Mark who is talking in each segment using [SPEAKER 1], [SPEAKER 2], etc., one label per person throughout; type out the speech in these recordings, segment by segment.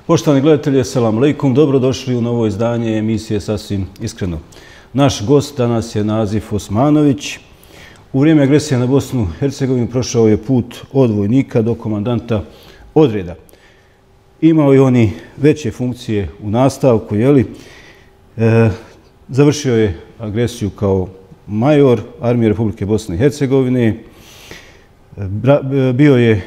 [SPEAKER 1] Poštovani gledatelji, assalamu alaikum, dobrodošli u novo izdanje emisije Sasvim iskreno. Naš gost danas je Nazif Osmanović. U vrijeme agresije na Bosnu i Hercegovinu prošao je put od vojnika do komandanta odreda. Imao je oni veće funkcije u nastavku, završio je agresiju kao major Armije Republike Bosne i Hercegovine. Bio je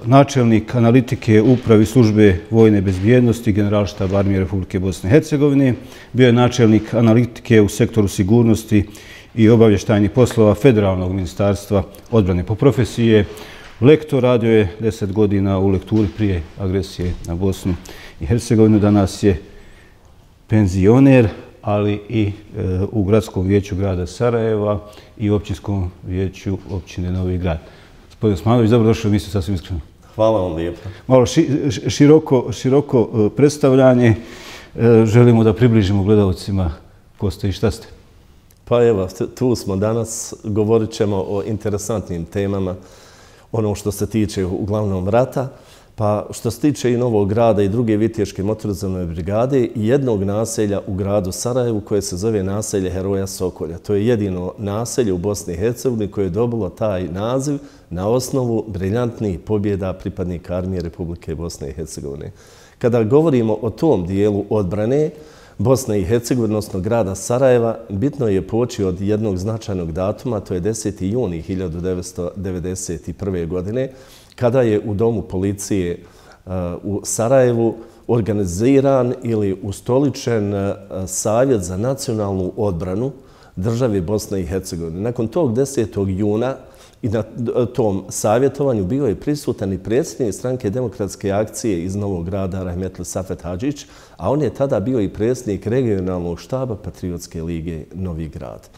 [SPEAKER 1] načelnik analitike upravi službe vojne bezbjednosti Generalštaba Armije Republike Bosne i Hercegovine. Bio je načelnik analitike u sektoru sigurnosti i obavještajnih poslova Federalnog ministarstva odbrane. Po profesiji je lektor, radio je 10 godina u lekturi prije agresije na Bosnu i Hercegovinu. Danas je penzioner, ali i u gradskom vijeću grada Sarajeva i općinskom vijeću općine Novi Grad. Gospodin Osmanović, dobrodošli u emisiju Sasvim iskreno.
[SPEAKER 2] Hvala vam lijepo.
[SPEAKER 1] Malo široko predstavljanje. Želimo da približimo gledalcima ko ste i šta ste.
[SPEAKER 2] Pa evo, tu smo danas. Govorit ćemo o interesantnim temama, ono što se tiče uglavnom rata. Pa što se tiče i Novog Grada i druge viteške motorizovane brigade i jednog naselja u gradu Sarajevu koje se zove naselje Heroja Sokolja. To je jedino naselje u Bosni i Hercegovini koje je dobilo taj naziv na osnovu briljantnih pobjeda pripadnika Armije Republike Bosne i Hercegovine. Kada govorimo o tom dijelu odbrane Bosne i Hercegovine, odnosno grada Sarajeva, bitno je poći od jednog značajnog datuma, to je 10. juni 1991. godine, kada je u Domu policije u Sarajevu organiziran ili ustoličen Savjet za nacionalnu odbranu države Bosne i Hercegovine. Nakon tog 10. juna i na tom savjetovanju bio je prisutan i predsjednik Stranke demokratske akcije iz Novog Grada Rahmetli Safet Hadžić, a on je tada bio i predsjednik regionalnog štaba Patriotske lige Novi Grad.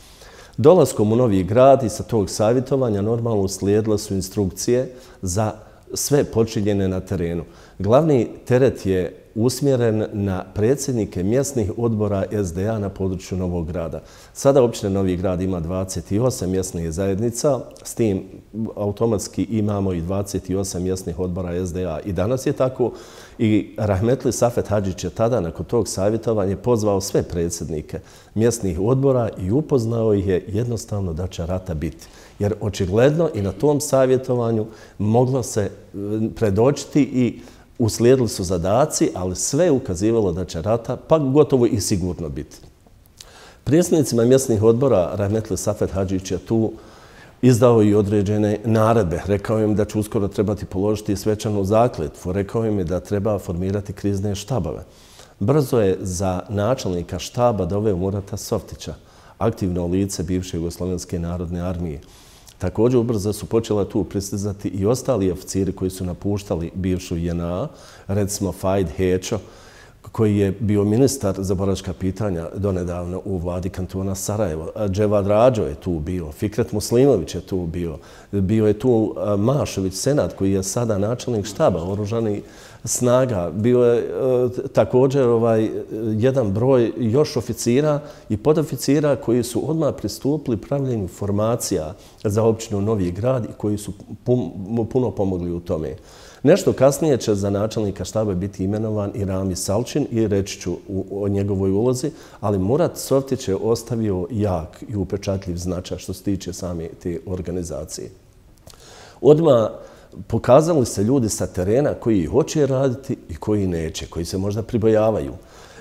[SPEAKER 2] Dolaskom u Novi Grad i sa tog savjetovanja normalno uslijedile su instrukcije za sve počinjene na terenu. Glavni teret je usmjeren na predsjednike mjesnih odbora SDA na području Novog Grada. Sada općina Novi Grad ima 28 mjesnih zajednica, s tim automatski imamo i 28 mjesnih odbora SDA. I danas je tako i Rahmetli Safet Hadžić je tada nakon tog savjetovanja pozvao sve predsjednike mjesnih odbora i upoznao ih je jednostavno da će rata biti. Jer očigledno i na tom savjetovanju moglo se predočiti i uslijedili su zadaci, ali sve je ukazivalo da će rata pa gotovo i sigurno biti. Predsjednicima mjesnih odbora Rahmetli Safet Hadžić je tu izdao i određene naredbe. Rekao im da će uskoro trebati položiti svečanu zakletvu. Rekao im je da treba formirati krizne štabove. Brzo je za načelnika štaba doveo Murata Softića, aktivno lice bivše Jugoslovenske narodne armije. Također ubrzo su počela tu pristizati i ostali oficiri koji su napuštali bivšu JNA, recimo Fajd Hečo, koji je bio ministar za boračka pitanja donedavno u vladi kantona Sarajevo. Dževad Rađo je tu bio, Fikret Muslimović je tu bio, bio je tu Mašović Senad koji je sada načelnik štaba oružanih snaga. Bio je također jedan broj još oficira i podoficira koji su odmah pristupili pravljenju formacija za općinu Novi Grad i koji su puno pomogli u tome. Nešto kasnije će za načelnika štaba biti imenovan i Rami Salčin i reći ću o njegovoj ulozi, ali Murat Softić je ostavio jak i upečatljiv značaj što se tiče same te organizacije. Odmah pokazali se ljudi sa terena koji hoće raditi i koji neće, koji se možda pribojavaju.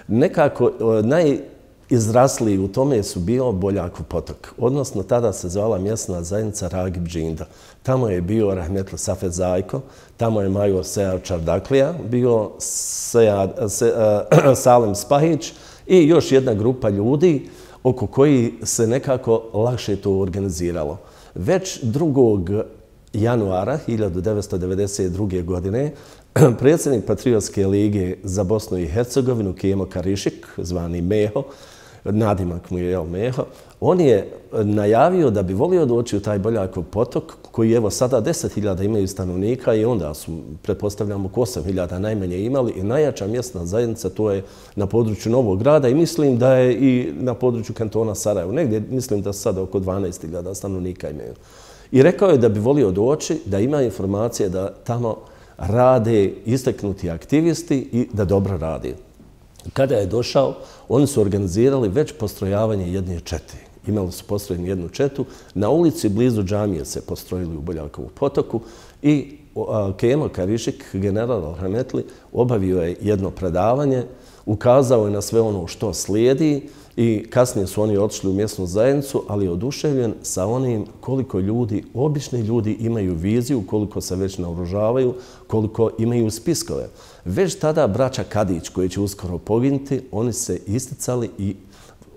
[SPEAKER 2] Nekako najizrasliji u tome su bio Boljakov potok, odnosno tada se zvala mjesna zajednica Ragib Džinda. Tamo je bio Rahmetli Safet Zajko, tamo je major Sejad Čardaklija, bio Salem Spahić i još jedna grupa ljudi oko koji se nekako lakše to organiziralo. Već 2. januara 1992. godine predsjednik Patriotske lige za Bosnu i Hercegovinu Kemo Karišik, zvani Meho, nadimak mu je Meho, on je najavio da bi volio doći u taj Boljakov potok koji evo sada 10.000 imaju stanovnika i onda su, pretpostavljamo, 8.000 najmanje imali i najjača mjesna zajednica to je na području Novog Grada i mislim da je i na području kantona Sarajevo. Negdje mislim da sada oko 12.000 stanovnika imaju. I rekao je da bi volio doći, da ima informacije da tamo rade istaknuti aktivisti i da dobro rade. Kada je došao, oni su organizirali već postrojavanje jedne čete. Imali su postrojenu jednu četu. Na ulici blizu džamije se postrojili u Boljakovu potoku i Kemo Karišik, general Rahmetli, obavio je jedno predavanje, ukazao je na sve ono što slijedi i kasnije su oni otišli u mjesnu zajednicu, ali je oduševljen sa onim koliko ljudi, obični ljudi imaju viziju, koliko se već naoružavaju, koliko imaju spiskove. Već tada braća Kadić, koji će uskoro poginuti, oni se isticali i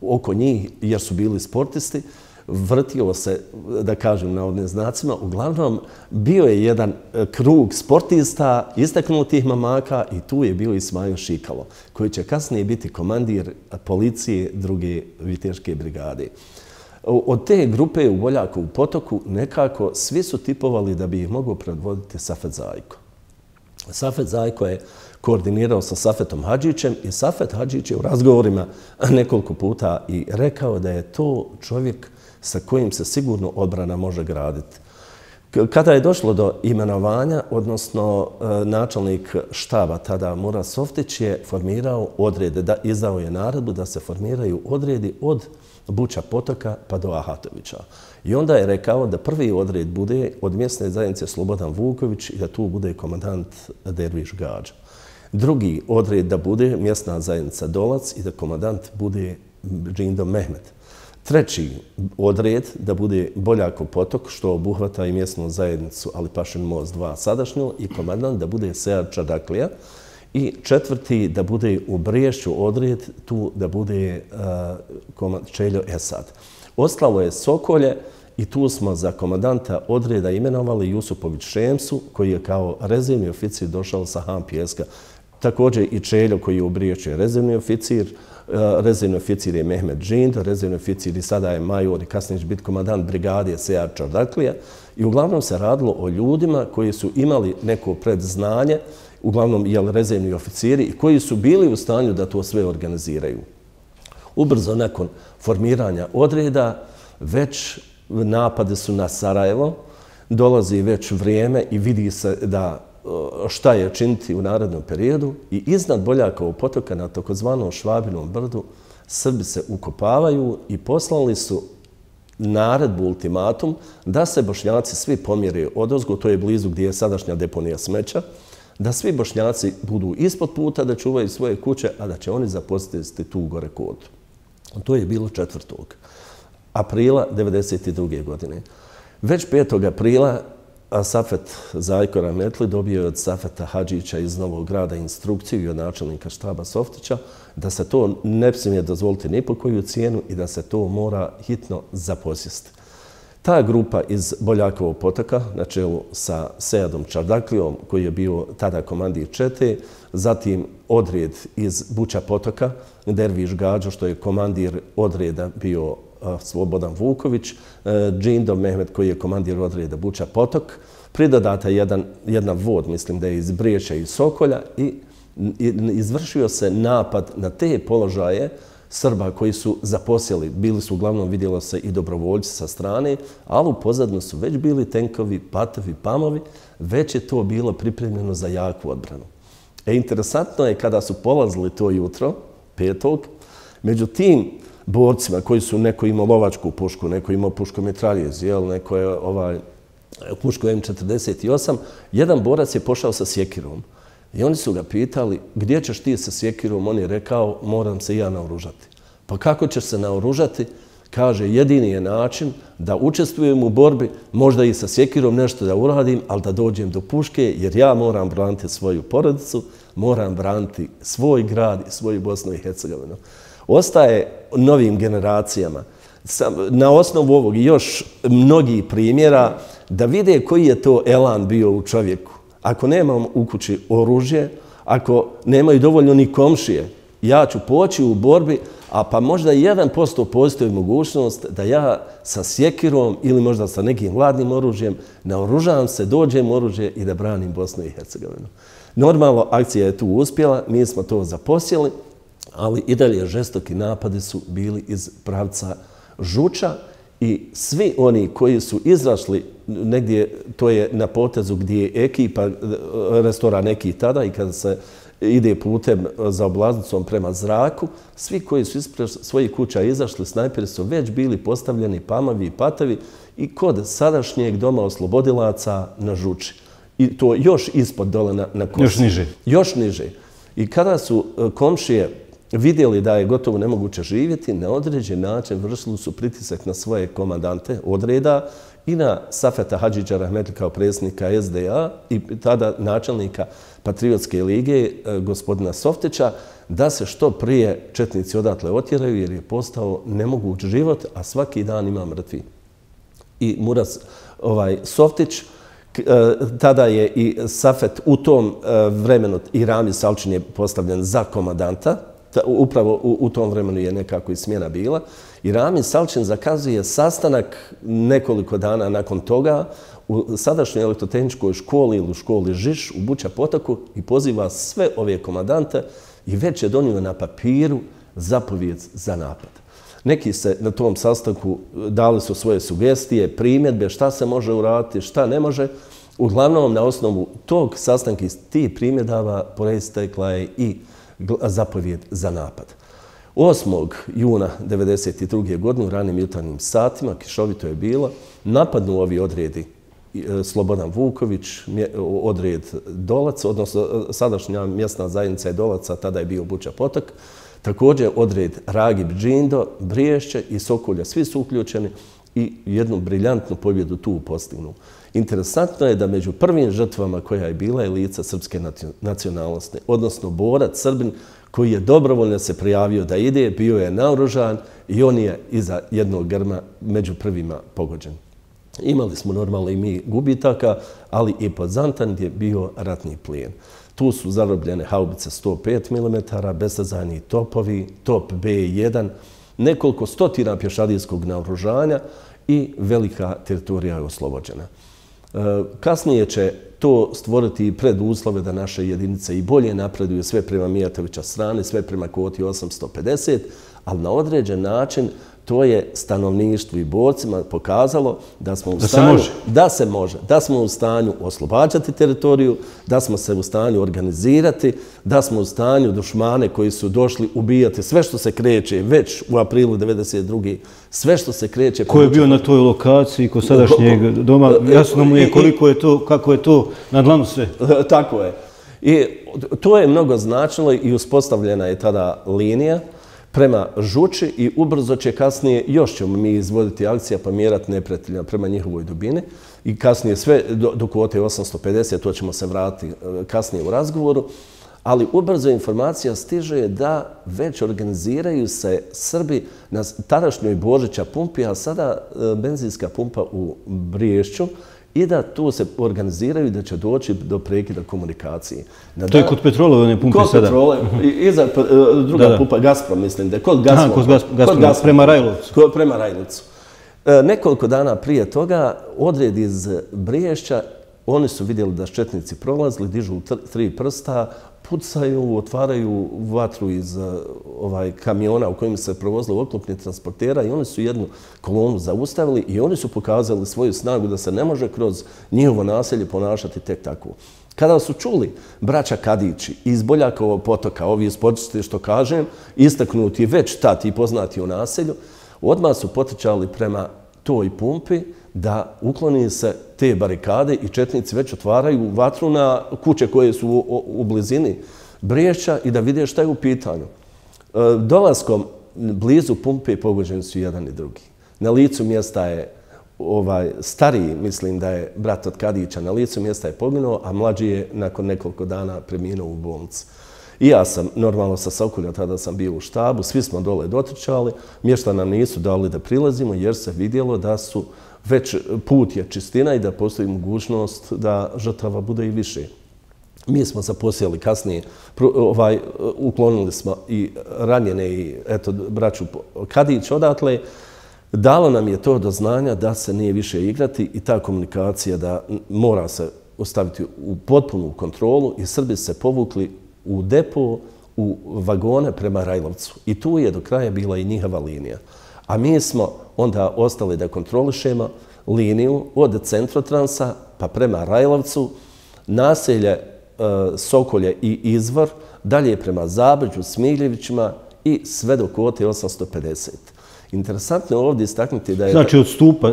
[SPEAKER 2] oko njih, jer su bili sportisti, vrtilo se, da kažem navodnim znacima, uglavnom bio je jedan krug sportista, istaknutih mamaka i tu je bio Ismail Šikalo, koji će kasnije biti komandir policije druge viteške brigade. Od te grupe u Boljakovu potoku nekako svi su tipovali da bi ih mogao predvoditi Safet Zajko. Safet Zajko je koordinirao sa Safetom Hadžićem i Safet Hadžić je u razgovorima nekoliko puta i rekao da je to čovjek sa kojim se sigurno odbrana može graditi. Kada je došlo do imenovanja, odnosno načelnik štaba tada Murat Softić je formirao odrede, izdao je naredbu da se formiraju odredi od Buča potoka pa do Ahatovića. I onda je rekao da prvi odred bude od mjesne zajednice Slobodan Vuković i da tu bude komandant Derviš Gađa. Drugi odred da bude mjesna zajednica Dolac i da komandant bude Džindo Mehmet. Treći odred da bude Boljakov potok, što obuhvata i mjesnu zajednicu Alipašin most 2 sadašnju i komandant da bude Sead Čardaklija. I četvrti da bude u Briješću odred, tu da bude Čeljo Esad. Ostalo je Sokolje i tu smo za komandanta odreda imenovali Jusupović Šemsu, koji je kao rezervni oficir došao sa Han Pjeska. Također i Čeljo, koji je u Briješću je rezervni oficir. Rezervni oficir je Mehmet Džindo, rezervni oficir i sada je major i kasnije će biti komandant brigade Sead Čardaklija. I uglavnom se radilo o ljudima koji su imali neko predznanje, uglavnom rezervni oficiri, i koji su bili u stanju da to sve organiziraju. Ubrzo nakon formiranja odreda, već napade su na Sarajevo, dolazi već vrijeme i vidi se da šta je činiti u narednom periodu i iznad Boljakovog potoka na takozvanom Švabinom brdu Srbi se ukopavaju i poslali su naredbu, ultimatum, da se Bošnjaci svi pomjere odozgo, to je blizu gdje je sadašnja deponija smeća, da svi Bošnjaci budu ispod puta, da čuvaju svoje kuće, a da će oni zaposliti tu gore kodu. To je bilo 4. aprila 1992. godine. Već 5. aprila Safet Zajko Rahmetli dobio je od Safeta Hadžića iz Novog Grada instrukciju i od načelnika štaba Softića da se to ne smije dozvoliti ni po koju cijenu i da se to mora hitno zaposjesti. Ta grupa iz Boljakovog potoka, na čelu sa Seadom Čardaklijom, koji je bio tada komandir čete, zatim odred iz Buča potoka, Derviš Gađo, što je komandir odreda bio Slobodan Vuković, Džindo Mehmet, koji je komandir odreda Buča potok, pridodata jedan vod, mislim da je iz Briječa i Sokolja, i izvršio se napad na te položaje Srba koji su zaposjeli. Bili su uglavnom, vidjelo se, i dobrovoljci sa strane, ali u pozadnju su već bili tenkovi, patovi, pamovi, već je to bilo pripremljeno za jaku odbranu. Interesantno je kada su polazili to jutro, 5. među tim borcima koji su, neko imao lovačku pušku, neko imao puškomitraljez, neko je pušku M48, jedan borac je pošao sa sjekirom. I oni su ga pitali, gdje ćeš ti sa sjekirom? On je rekao, moram se ja naoružati. Pa kako ćeš se naoružati? Kaže, jedini je način da učestvujem u borbi, možda i sa sjekirom nešto da uradim, ali da dođem do puške, jer ja moram braniti svoju porodicu, moram braniti svoj grad i svoju Bosnu i Hercegovinu. Ostaje novim generacijama, na osnovu ovog i još mnogih primjera, da vide koji je to elan bio u čovjeku. Ako nemam u kući oružje, ako nemaju dovoljno ni komšije, ja ću poći u borbi, a pa možda 1% postoji mogućnost da ja sa sjekirom ili možda sa nekim hladnim oružjem naoružavam se, dođem oružje i da branim Bosnu i Hercegovinu. Normalno, akcija je tu uspjela, mi smo to zaposjeli, ali i dalje žestoki napadi su bili iz pravca Žuča i svi oni koji su izrašli negdje, to je na potezu gdje je ekipa, restoran neki tada i kada se ide putem za oblaznicom prema zraku, svi koji su ispred svojih kuća izašli, snajperi su već bili postavljeni pamovi i patovi i kod sadašnjeg doma oslobodilaca na Žuči. I to još ispod dole na Kosovu.
[SPEAKER 1] Još niže.
[SPEAKER 2] Još niže. I kada su komšije vidjeli da je gotovo nemoguće živjeti, na određen način vršili su pritisak na svoje komandante odreda i na Safeta Hadžića Rahmetli kao predsjednika SDA i tada načelnika Patriotske lige, gospodina Softića, da se što prije četnici odatle otjeraju jer je postao nemoguć život, a svaki dan ima mrtvi. I Murat Softić, tada je i Safet u tom vremenu i Rami Salčin je postavljen za komandanta, upravo u tom vremenu je nekako i smjena bila. I Rami Salčin zakazuje sastanak nekoliko dana nakon toga u sadašnjoj elektrotehničkoj školi ili u školi Žiš u Buća Potoku i poziva sve ove komandante i već je donio na papiru zapovijed za napad. Neki se na tom sastanku dali su svoje sugestije, primjedbe, šta se može uraditi, šta ne može. Uglavnom, na osnovu tog sastanka iz tih primjedava proistekla je i zapovijed za napad. 8. juna 1992. godine u ranim jutarnjim satima, kišovito je bilo, napadnu ovi odredi Slobodan Vuković, odred Dolac, odnosno sadašnja mjesna zajednica je Dolaca, tada je bio Buća Potok, također odred Ragib Džindo, Briješće i Sokolja, svi su uključeni i jednu briljantnu pobjedu tu postignu. Interesantno je da među prvim žrtvama koja je bila je lica srpske nacionalnosti, odnosno borac Srbin koji je dobrovoljno se prijavio da ide, bio je naoružan i on je iza jednog grma među prvima pogođen. Imali smo normalno i mi gubitaka, ali i Podzantan je bio ratni plijen. Tu su zarobljene haubice 105 mm, bestazajni topovi, top B1, nekoliko stotina pješadijskog naoružanja i velika teritorija je oslobođena. Kasnije će to stvoriti preduslove da naše jedinice i bolje napreduju sve prema Mijatovića strane, sve prema kvoti 850, ali na određen način to je stanovništvu i borcima pokazalo da smo u stanju, da smo u stanju oslobađati teritoriju, da smo se u stanju organizirati, da smo u stanju dušmane koji su došli ubijati sve što se kreće već u aprilu 1992. Sve što se kreće...
[SPEAKER 1] Ko je bio na toj lokaciji kod sadašnjeg doma? Jasno mu je koliko je to, kako je to na dlanu sve.
[SPEAKER 2] Tako je. I to je mnogo značilo i uspostavljena je tada linija prema Žuči i ubrzo će kasnije, još ćemo mi izvoditi akcija pa mjerati neprijatelja prema njihovoj dubini i kasnije sve do kvote 850, to ćemo se vratiti kasnije u razgovoru, ali ubrzo informacija stiže da već organiziraju se Srbi na tadašnjoj Božića pumpi, a sada benzinska pumpa u Briješću, i da tu se organiziraju i da će doći do prekida komunikacije.
[SPEAKER 1] To je kod Petrolove one pumpe sada?
[SPEAKER 2] Kod Petrole, iza druga pumpa, Gazprom, mislim da je kod Gazprom.
[SPEAKER 1] Kod Gazprom, prema Rajlovcu.
[SPEAKER 2] Prema Rajlovcu. Nekoliko dana prije toga, odred iz Briješća, oni su vidjeli da četnici prolazili, dižu 3 prsta, pucaju, otvaraju vatru iz kamiona u kojim se provozili oklopni transportera i oni su jednu kolonu zaustavili i oni su pokazali svoju snagu da se ne može kroz njihovo naselje ponašati tek tako. Kada su čuli braća Kadići iz Boljakovog potoka, ovi iz Počiste, što kažem, istaknuti već tad i poznati u naselju, odmah su potrčali prema toj pumpi da ukloni se te barikade i četnici već otvaraju vatru na kuće koje su u blizini Briješća i da vide šta je u pitanju. Dolaskom blizu pumpe pogođeni su jedan i drugi. Na licu mjesta je stariji, mislim da je brat od Kadića, na licu mjesta je poginuo, a mlađi je nakon nekoliko dana preminuo u bolnici. I ja sam, normalno sa Sokolja, tada sam bio u štabu, svi smo dole dotrčali, mješta nam nisu dali da prilazimo jer se vidjelo da su već put je čistina i da postoji mogućnost da žrtava bude i više. Mi smo zaposjeli kasnije, uklonili smo i ranjene i braću Kadić odatle. Dalo nam je to do znanja da se nije više igrati i ta komunikacija da mora se ostaviti u potpunu kontrolu i Srbi se povukli u depo, u vagone prema Rajlovcu. I tu je do kraja bila i njihova linija. A mi smo onda ostali da kontrolišemo liniju od Centrotransa pa prema Rajlovcu, naselje Sokolje i Izvor, dalje prema Zabrđu, Smiljevićima i sve do kvote 850. Interesantno je ovdje istaknuti da je...
[SPEAKER 1] Znači od stupa...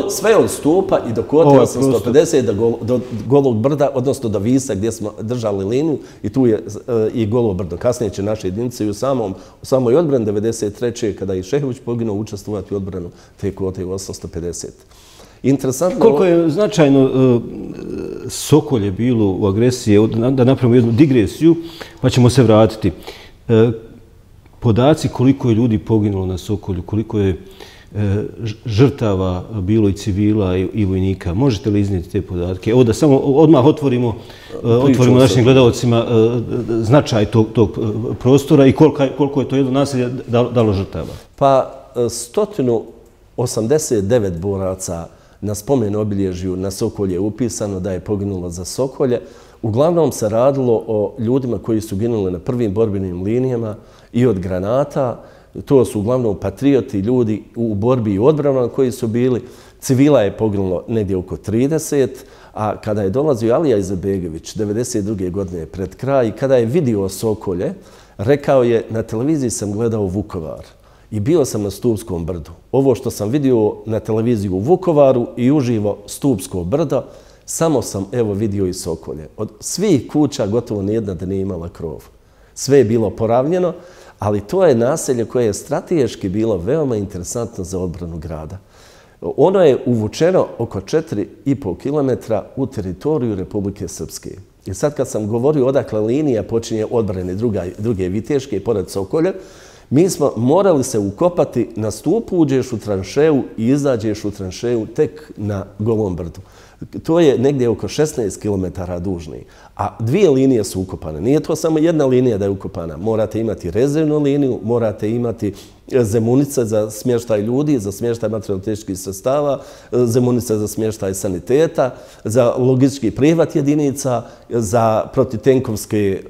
[SPEAKER 2] Sve od stupa i do kvote 850 do Golog brda, odnosno do Visa gdje smo držali liniju i tu je i Golo brdo. Kasnije će naše jedinice i u samoj odbrani 1993. kada je Šehović poginuo učestvovati u odbranu te kvote 850. Interesantno...
[SPEAKER 1] Koliko je značajno Sokolje bilo u agresiji, da napravimo jednu digresiju, pa ćemo se vratiti. Podaci koliko je ljudi poginulo na Sokolju, koliko je žrtava bilo i civila i vojnika. Možete li iznijeti te podatke? Evo da samo odmah otvorimo našim gledalcima značaj tog prostora i koliko je to jedno naselje dalo žrtava.
[SPEAKER 2] Pa 189 boraca na spomen obilježju na Sokolje je upisano da je poginulo za Sokolje. Uglavnom se radilo o ljudima koji su ginuli na prvim borbenim linijama i od granata. To su uglavnom patrioti, ljudi u borbi i odbranama koji su bili. Civila je poginulo negdje oko 30, a kada je dolazio Alija Izetbegović 1992. godine pred kraj, kada je vidio Sokolje, rekao je: na televiziji sam gledao Vukovar i bio sam na Stupskom brdu. Ovo što sam vidio na televiziji u Vukovaru i uživo Stupsko brdo, samo sam vidio i Sokolje. Od svih kuća gotovo nijedna da nije imala krov. Sve je bilo poravnjeno, ali to je naselje koje je strateški bilo veoma interesantno za odbranu grada. Ono je uvučeno oko 4,5 km u teritoriju Republike Srpske. I sad kad sam govorio odakle linija počinje odbrane druge Viteške pored Sokolja, mi smo morali se ukopati na stupu, uđeš u tranšeju i izađeš u tranšeju tek na Golom brdu. To je negdje oko 16 km dužni, a dvije linije su ukopane. Nije to samo jedna linija da je ukopana. Morate imati rezervnu liniju, morate imati zemunice za smještaj ljudi, za smještaj materijalno-tehničkih sredstava, zemunice za smještaj saniteta, za logistički prihvat jedinica, za protitenkovske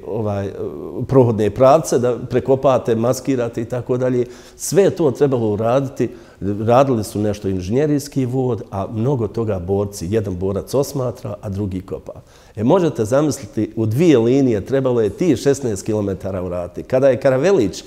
[SPEAKER 2] prohodne pravce, da prekopate, maskirate i tako dalje. Sve je to trebalo uraditi. Radili su nešto inženjerijski vod, a mnogo toga borci. Jedan borac osmatra, a drugi kopa. Možete zamisliti, u dvije linije trebalo je ti 16 km uraditi. Kada je Karavelić,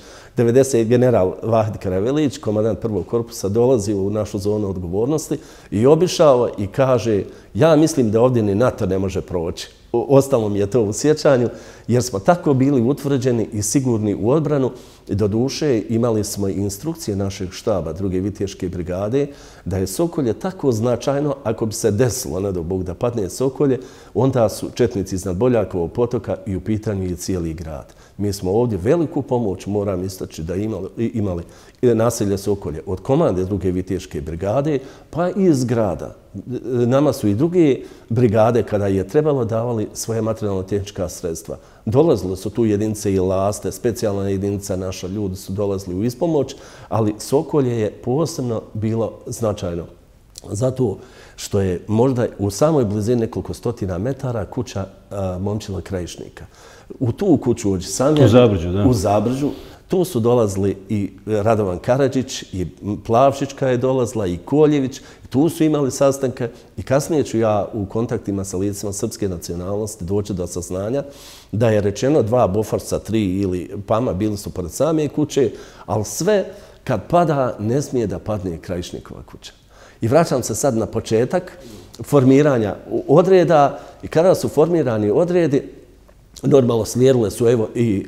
[SPEAKER 2] general Vahid Karavelić, komandant prvog korpusa, dolazio u našu zonu odgovornosti i obišao i kaže: ja mislim da ovdje ni NATO ne može proći. Ostalo mi je to u sjećanju, jer smo tako bili utvrđeni i sigurni u odbranu. Do duše imali smo i instrukcije našeg štaba druge Viteške brigade da je Sokolje tako značajno, ako bi se desilo, ne do Bog, da padne Sokolje, onda su četnici iznad Boljakovog potoka i u pitanju je cijeli grad. Mi smo ovdje veliku pomoć, moram istaći, da imali naselje Sokolje od komande druge Viteške brigade, pa i iz grada. Nama su i druge brigade, kada je trebalo, davali svoje materijalno-tehnička sredstva. Dolazile su tu jedinice i Laste, specijalna jedinica naša, ljudi su dolazili u ispomoć, ali Sokolje je posebno bilo značajno. Zato što je možda u samoj blizini nekoliko stotina metara kuća Momčila Krajišnika. U tu kuću u Zabrđu, tu su dolazili i Radovan Karadžić, i Plavšićka je dolazila, i Koljević. Tu su imali sastanke i kasnije ću ja u kontaktima sa licima srpske nacionalnosti doći do saznanja da je rečeno 2 Boforsa, 3 ili Pama bili su pored same kuće, ali sve kad pada ne smije da padne Krajišnikova kuća. I vraćam se sad na početak formiranja odreda i kada su formirani odredi, normalno slijedile su i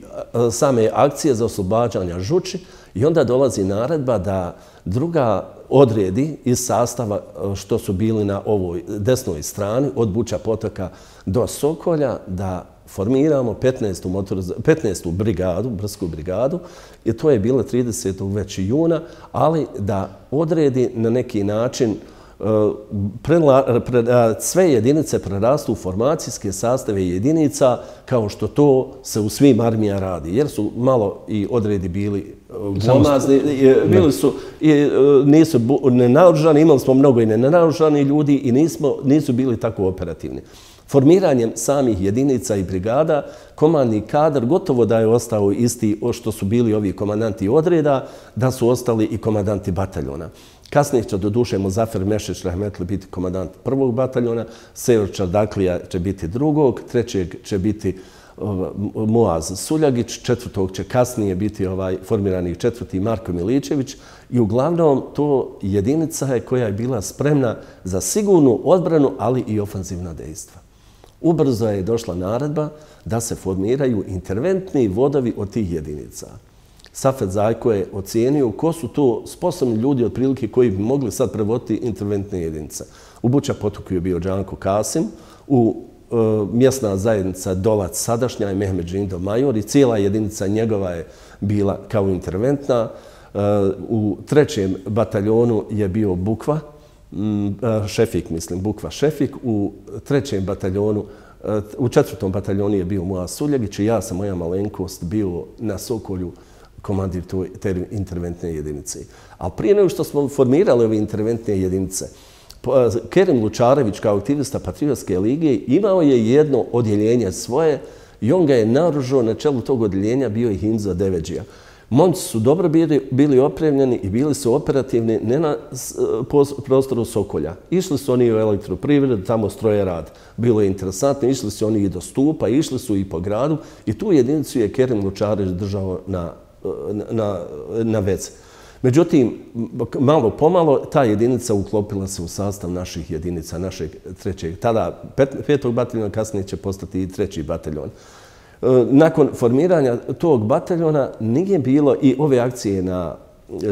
[SPEAKER 2] same akcije za oslobađanja Žuči i onda dolazi naredba da druga odredi iz sastava što su bili na ovoj desnoj strani od Buča potoka do Sokolja da formiramo 15. brigadu, Brsku brigadu, i to je bilo 30. već juna, ali da odredi na neki način sve jedinice prerastu u formacijske sastave jedinica kao što to se u svim armijama radi. Jer su malo i odredi bili glomazni, nisu nenaoružani, imali smo mnogo i nenaoružani ljudi i nisu bili tako operativni. Formiranjem samih jedinica i brigada, komandni kadar gotovo da je ostao isti što su bili ovi komandanti odreda, da su ostali i komandanti bataljona. Kasnije će doduše Muzafer Mešić Rahmetli biti komandant 1. bataljona, Sever Čardaklija će biti 2., 3. će biti Muaz Suljagić, 4. će kasnije biti formirani 4. Marko Miličević i uglavnom to jedinica je koja je bila spremna za sigurnu odbranu, ali i ofanzivna dejstva. Ubrzo je došla naredba da se formiraju interventni vodovi od tih jedinica. Safet Zajko je ocijenio ko su to sposobni ljudi otprilike koji bi mogli sad prevoditi interventne jedinice. U Buča Potoku je bio Džanko Kasim, u mjesna zajednica Dolac sadašnja je Mehmed Žindov major i cijela jedinica njegova je bila kao interventna. U 3. bataljonu je bio Bukva, Šefik mislim, Bukva Šefik. U 3. bataljonu, u 4. bataljonu je bio Muaz Suljagić i ja sam, moja malenkost, bio na Sokolju komandir te interventne jedinice. Ali prije nego što smo formirali ove interventne jedinice, Kerim Lučarević kao aktivista Patriotske lige imao je jedno odjeljenje svoje i on ga je naoružao, na čelu tog odjeljenja bio je Hinza Deveđija. Momci su dobro bili opremljeni i bili su operativni ne na prostoru Sokolja. Išli su oni u elektroprivredu, tamo stroje rad. Bilo je interesantno, išli su oni i do Stupa, išli su i po gradu i tu jedinicu je Kerim Lučarević držao na vezi. Međutim, malo pomalo ta jedinica uklopila se u sastav naših jedinica, našeg 3. Tada 5. bataljona, kasnije će postati i 3. bataljon. Nakon formiranja tog bataljona nije bilo i ove akcije na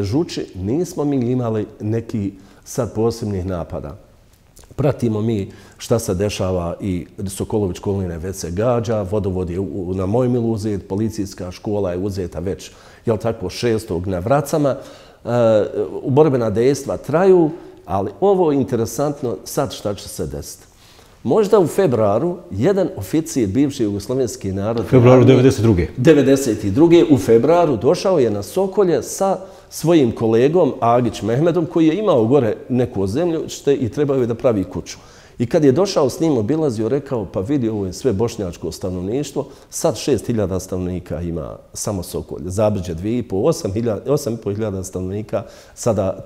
[SPEAKER 2] Žuči, nismo mi imali neki sad posebnih napada. Pratimo mi šta se dešava i Sokolović Kolina već se gađa, vodovod je na Mojmilu uzet, policijska škola je uzeta već, jel tako, 6. na Vracama. Borbena dejstva traju, ali ovo je interesantno sad šta će se desiti. Možda u februaru jedan oficir bivši jugoslovenski narod...
[SPEAKER 1] Februaru 1992.
[SPEAKER 2] 1992. u februaru došao je na Sokolje sa svojim kolegom Agić Mehmedom koji je imao gore neku zemljište i trebao je da pravi kuću. I kad je došao s njim, obilazio, rekao, pa vidi, ovo je sve bošnjačko stanovništvo, sad 6.000 stanovnika ima samo Sokolje, Zabrđe 8.500 stanovnika sada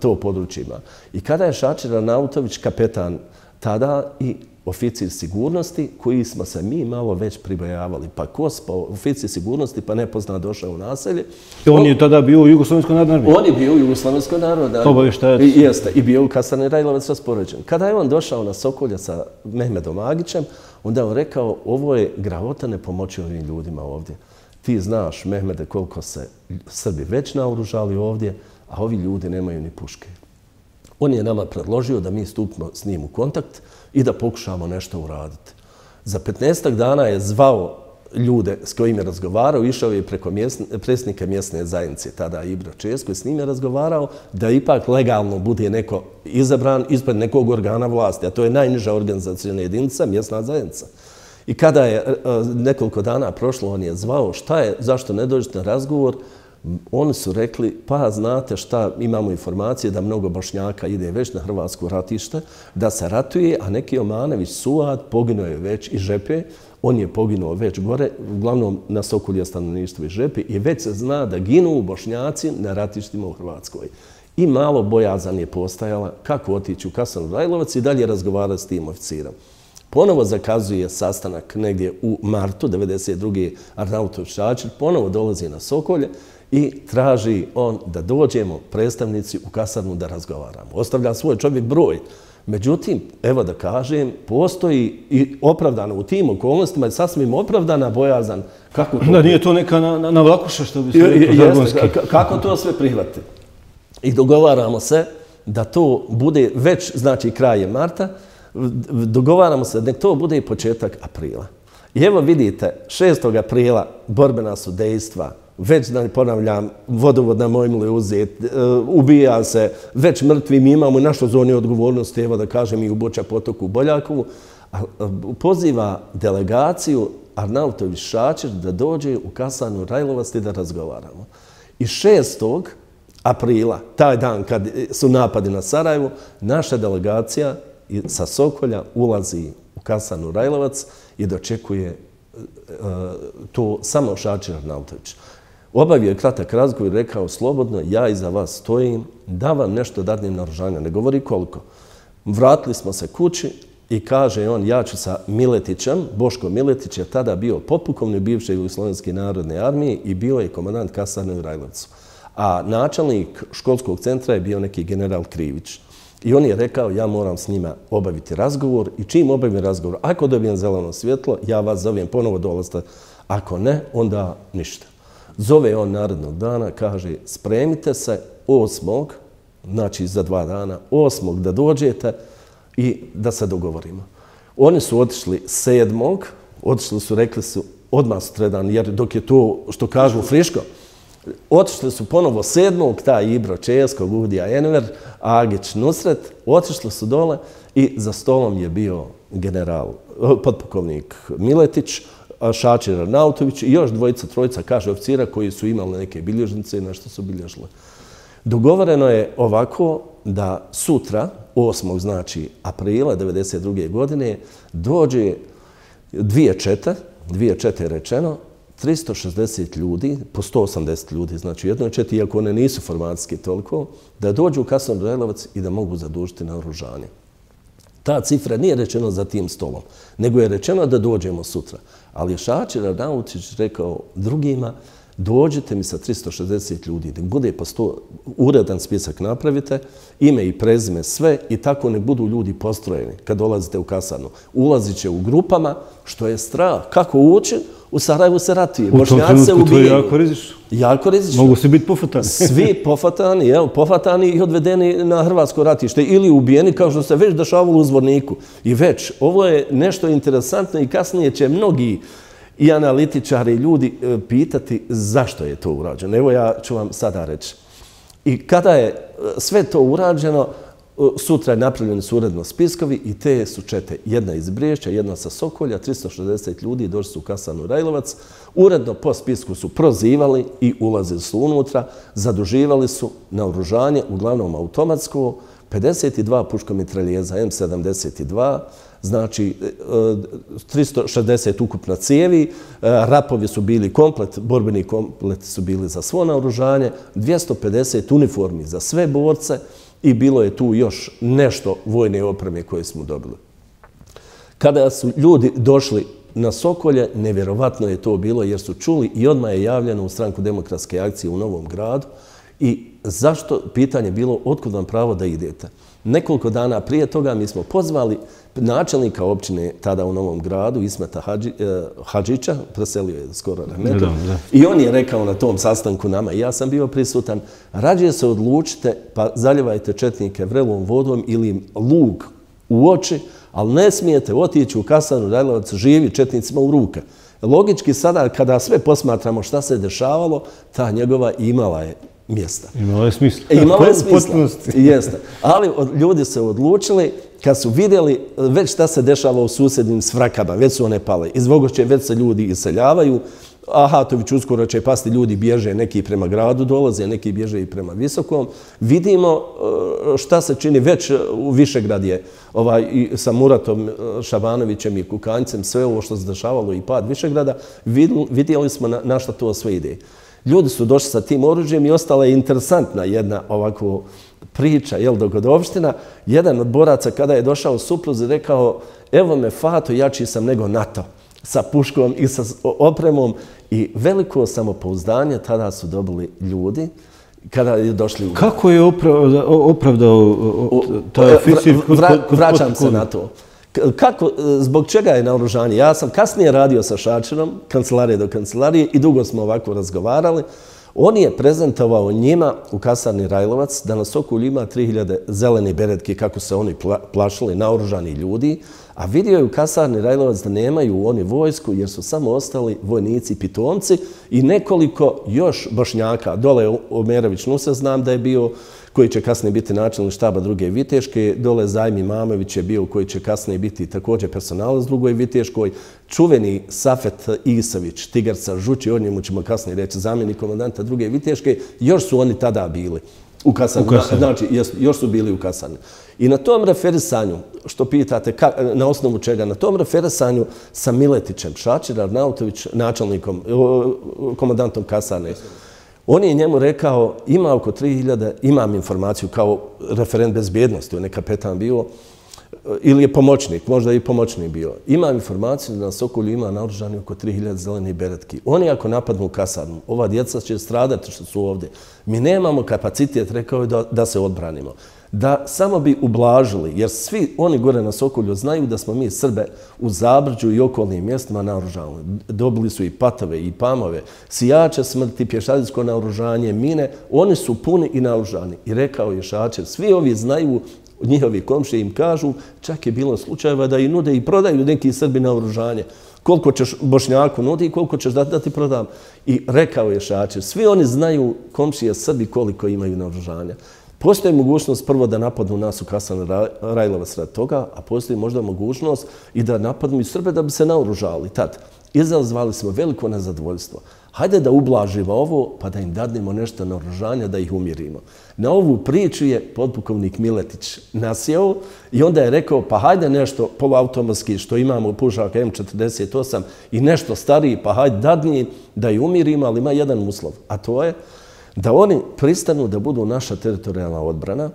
[SPEAKER 2] to područje ima. I kada je Šačir Arnautović, kapetan tada i oficir sigurnosti, koji smo se mi malo već pribojavali. Pa KOS, pa oficir sigurnosti, pa nepozna došao u naselje.
[SPEAKER 1] On je tada bio u Jugoslovenskoj narodnoj armiji?
[SPEAKER 2] On je bio u Jugoslovenskoj narodnoj armiji.
[SPEAKER 1] Obavještajac?
[SPEAKER 2] Jeste. I bio u Kasarni Rajlovac raspoređen. Kada je on došao na Sokolje sa Mehmedom Agićem, onda je on rekao, ovo je gravotane pomoći ovim ljudima ovdje. Ti znaš, Mehmede, koliko se Srbi već naoružali ovdje, a ovi ljudi nemaju ni puške. On je nama predložio da mi stupimo s njim u kontakt i da pokušamo nešto uraditi. Za 15 dana je zvao ljude s kojim je razgovarao, išao je preko predsjednika mjesne zajednice, tada Ibra Česko, i s njim je razgovarao da ipak legalno bude neko izabran ispred nekog organa vlasti, a to je najniža organizacijna jedinica, mjesna zajednica. I kada je nekoliko dana prošlo, on je zvao, šta je, zašto ne dođete na razgovor? Oni su rekli, pa znate šta, imamo informacije da mnogo Bošnjaka ide već na hrvatsko ratište, da se ratuje, a neki Omanević Suad poginuo je već i Žepe, on je poginuo već gore, uglavnom na Sokolje stanovništvo i Žepe, i već se zna da ginu Bošnjaci na ratištima u Hrvatskoj. I malo bojazan je postajala kako otići u Kasarnu Rajlovac i dalje razgovarati s tim oficirom. Ponovo zakazuje sastanak negdje u martu 1992. Arnautović Šačir, ponovo dolazi na Sokolje i traži on da dođemo predstavnici u kasarnu da razgovaramo. Ostavlja svoj čovjek broj. Međutim, evo da kažem, postoji i opravdano u tim okolnostima je sasvim opravdana bojazan.
[SPEAKER 1] Da nije to neka na vlakuša što bi se rekao žargonski.
[SPEAKER 2] Kako to sve prihvati? I dogovaramo se da to bude već, znači kraje marta, dogovaramo se da to bude i početak aprila. I evo vidite, 6. aprila borbena su dejstva, već da ne ponavljam, vodovod na Mojmilu je uzet, ubija se, već mrtvi, mi imamo našu zoni odgovornosti, evo da kažem i u Buča Potoku, u Boljakovu, poziva delegaciju Arnautović Šačir da dođe u Kasarnu Rajlovac i da razgovaramo. I 6. aprila, taj dan kad su napadi na Sarajevo, naša delegacija sa Sokolja ulazi u Kasarnu Rajlovac i dočekuje to samo Šačir Arnautović. obavio je kratak razgovor i rekao slobodno, ja iza vas stojim, da vam nešto dadnem naoružanja, ne govori koliko. Vratili smo se kući i kaže on, ja ću sa Miletićem, Boško Miletić je tada bio potpukovnik bivše Jugoslovenske narodne armije i bio je komandant kasarne u Rajlovcu. A načelnik školskog centra je bio neki general Krivić. I on je rekao, ja moram s njima obaviti razgovor i čim obavim razgovor, ako dobijem zeleno svjetlo, ja vas zovem ponovo dolazite, ako ne, onda ništa. Zove on narednog dana, kaže, spremite se 8. znači za 2 dana, 8. da dođete i da se dogovorimo. Oni su otišli 7. Otišli su, rekli su, odmah sutradan, jer dok je to, što kažu, friško, otišli su ponovo 7. taj Ibro Česko, Gudija Enver, Agić Nusret, otišli su dole i za stolom je bio general, potpukovnik Miletić, Šačir Arnautović i još 2-3, kaže, oficira koji su imali neke bilježnice i nešto su bilježile. Dogovoreno je ovako da sutra, 8. znači aprila 1992. godine, dođe 2 čete je rečeno, 360 ljudi, po 180 ljudi, znači u jednoj četi, iako one nisu formacijski toliko, da dođu u kasarnu Rajlovac i da mogu zadužiti naoružanje. Ta cifra nije rečena za tim stolom, nego je rečeno da dođemo sutra. Ali je Šačir Arnautović rekao drugima, dođite mi sa 360 ljudi, nek bude po 100, uredan spisak napravite, ime i prezime sve i tako ne budu ljudi postrojeni kad dolazite u kasarnu. Ulazit će u grupama, što je strah. Kako ući? U Sarajevu se ratuje.
[SPEAKER 1] U tom trenutku to je jako rizično.
[SPEAKER 2] Jako rizično.
[SPEAKER 1] Mogu se biti pofatani.
[SPEAKER 2] Svi pofatani i odvedeni na hrvatsko ratište ili ubijeni kao što se već dešavalo u Zvorniku. I već, ovo je nešto interesantno i kasnije će mnogi i analitičari i ljudi pitati zašto je to urađeno. Evo ja ću vam sada reći. I kada je sve to urađeno, sutra je napravljeni su uredno spiskovi i te su čete. Jedna iz Briješća, jedna sa Sokolja, 360 ljudi došli su u kasarnu Rajlovac. Uredno po spisku su prozivali i ulazili su unutra, zaduživali su naoružanje, uglavnom automatsko, 52 puškomitraljeza M72, znači 360 ukupno cijevi, rapovi su bili komplet, borbeni kompleti su bili za svo naoružanje, 250 uniformi za sve borce i bilo je tu još nešto vojne opreme koje smo dobili. Kada su ljudi došli na Sokolje, nevjerovatno je to bilo jer su čuli i odmah je javljeno u Stranku demokratske akcije u Novom Gradu i zašto pitanje bilo otkud vam pravo da idete. Nekoliko dana prije toga mi smo pozvali načelnika općine tada u Novom Gradu, Ismeta Hadžića, preselio je skoro Rahmetov, i on je rekao na tom sastanku nama, i ja sam bio prisutan, rađe se odlučite pa zaljevajte četnike vrelom vodom ili im lug u oči, ali ne smijete otići u kasarnu Rajlovac živi četnicima u ruke. Logički sada kada sve posmatramo šta se dešavalo, ta njegova imala je mjesta.
[SPEAKER 1] Imala je smisla.
[SPEAKER 2] Imala je smisla, jeste. Ali ljudi se odlučili, kad su vidjeli već šta se dešava u susjednim svrakama, već su one pale. Iz Vogošće već se ljudi iseljavaju, Ahatović uskoro će pasti, ljudi bježe, neki prema gradu dolaze, neki bježe i prema Visokom. Vidimo šta se čini već u Višegrad je sa Muratom Šabanovićem i Kukanjcem, sve ovo što se dešavalo i pad Višegrada, vidjeli smo na šta to sve ide. Ljudi su došli sa tim oružjem i ostala je interesantna jedna ovako priča, dogodovština. Jedan od boraca kada je došao supruzi rekao, evo me Fato, jači sam nego NATO, sa puškom i sa opremom i veliko samopouzdanje tada su dobili ljudi kada je došli u...
[SPEAKER 1] Kako je opravdao taj oficir?
[SPEAKER 2] Vraćam se na to. Zbog čega je naoružanje? Ja sam kasnije radio sa Šačirom, kancelarije do kancelarije i dugo smo ovako razgovarali. On je prezentovao njima u kasarni Rajlovac da na Sokolju ima 3000 zelene beretke, kako se oni plašili, naoružani ljudi, a vidio je u kasarni Rajlovac da nemaju oni vojsku jer su samo ostali vojnici i pitomci i nekoliko još Bošnjaka. Dole Omerović Nusa znam da je bio, koji će kasnije biti načelnik štaba 2. Viteške. Dole Zajmi Mamović je bio, koji će kasnije biti također personalac 2. Viteškoj. Čuveni Safet Isavić, Tigarca Žući, o njemu ćemo kasnije reći, zamjenik komandanta 2. Viteške. Još su oni tada bili. U kasarni. Znači, još su bili u kasarni. I na tom referisanju, što pitate, na osnovu čega, na tom referisanju sa Miletićem, Šačir Arnautović, načelnikom, komandantom kasarne, on je njemu rekao, ima oko 3000, imam informaciju kao referent bezbjednosti, on je kapetan bio, ili je pomoćnik, možda i pomoćnik bio. Imam informaciju da na Sokolju ima naoružani oko 3000 zelenih beretki. Oni ako napadnu u kasarnu, ova djeca će stradati što su ovdje. Mi nemamo kapacitet, rekao je, da se odbranimo. Da samo bi ublažili, jer svi oni gore na Sokolju znaju da smo mi Srbe u Zabrđu i okolnim mjestima naoružavali. Dobili su i patove, i pamove, sijače smrti, pješadijsko naoružanje, mine. Oni su puni i naoružani. I rekao je Šačer, svi ovi znaju, njihovi komšije im kažu, čak je bilo slučajeva da i nude i prodaju neki Srbi naoružanje. Koliko ćeš Bošnjaku nudi i koliko ćeš da ti prodam. I rekao je Šačer, svi oni znaju, komšije Srbi, koliko imaju naoružanja. Postoji mogućnost prvo da napadnu nas u kasarni Rajlovac radi toga, a postoji možda mogućnost i da napadnu i Srbe da bi se naoružali tad. Izazvali smo veliko nezadovoljstvo. Hajde da ublažimo ovo, pa da im dadnemo nešto naoružanja, da ih umirimo. Na ovu priču je podpukovnik Miletić nasjeo i onda je rekao, pa hajde nešto poluautomatski što imamo pušaka M48 i nešto stariji, pa hajde dadni da ih umirimo, ali ima jedan uslov, a to je da oni pristanu da budu naša teritorijalna odbrana,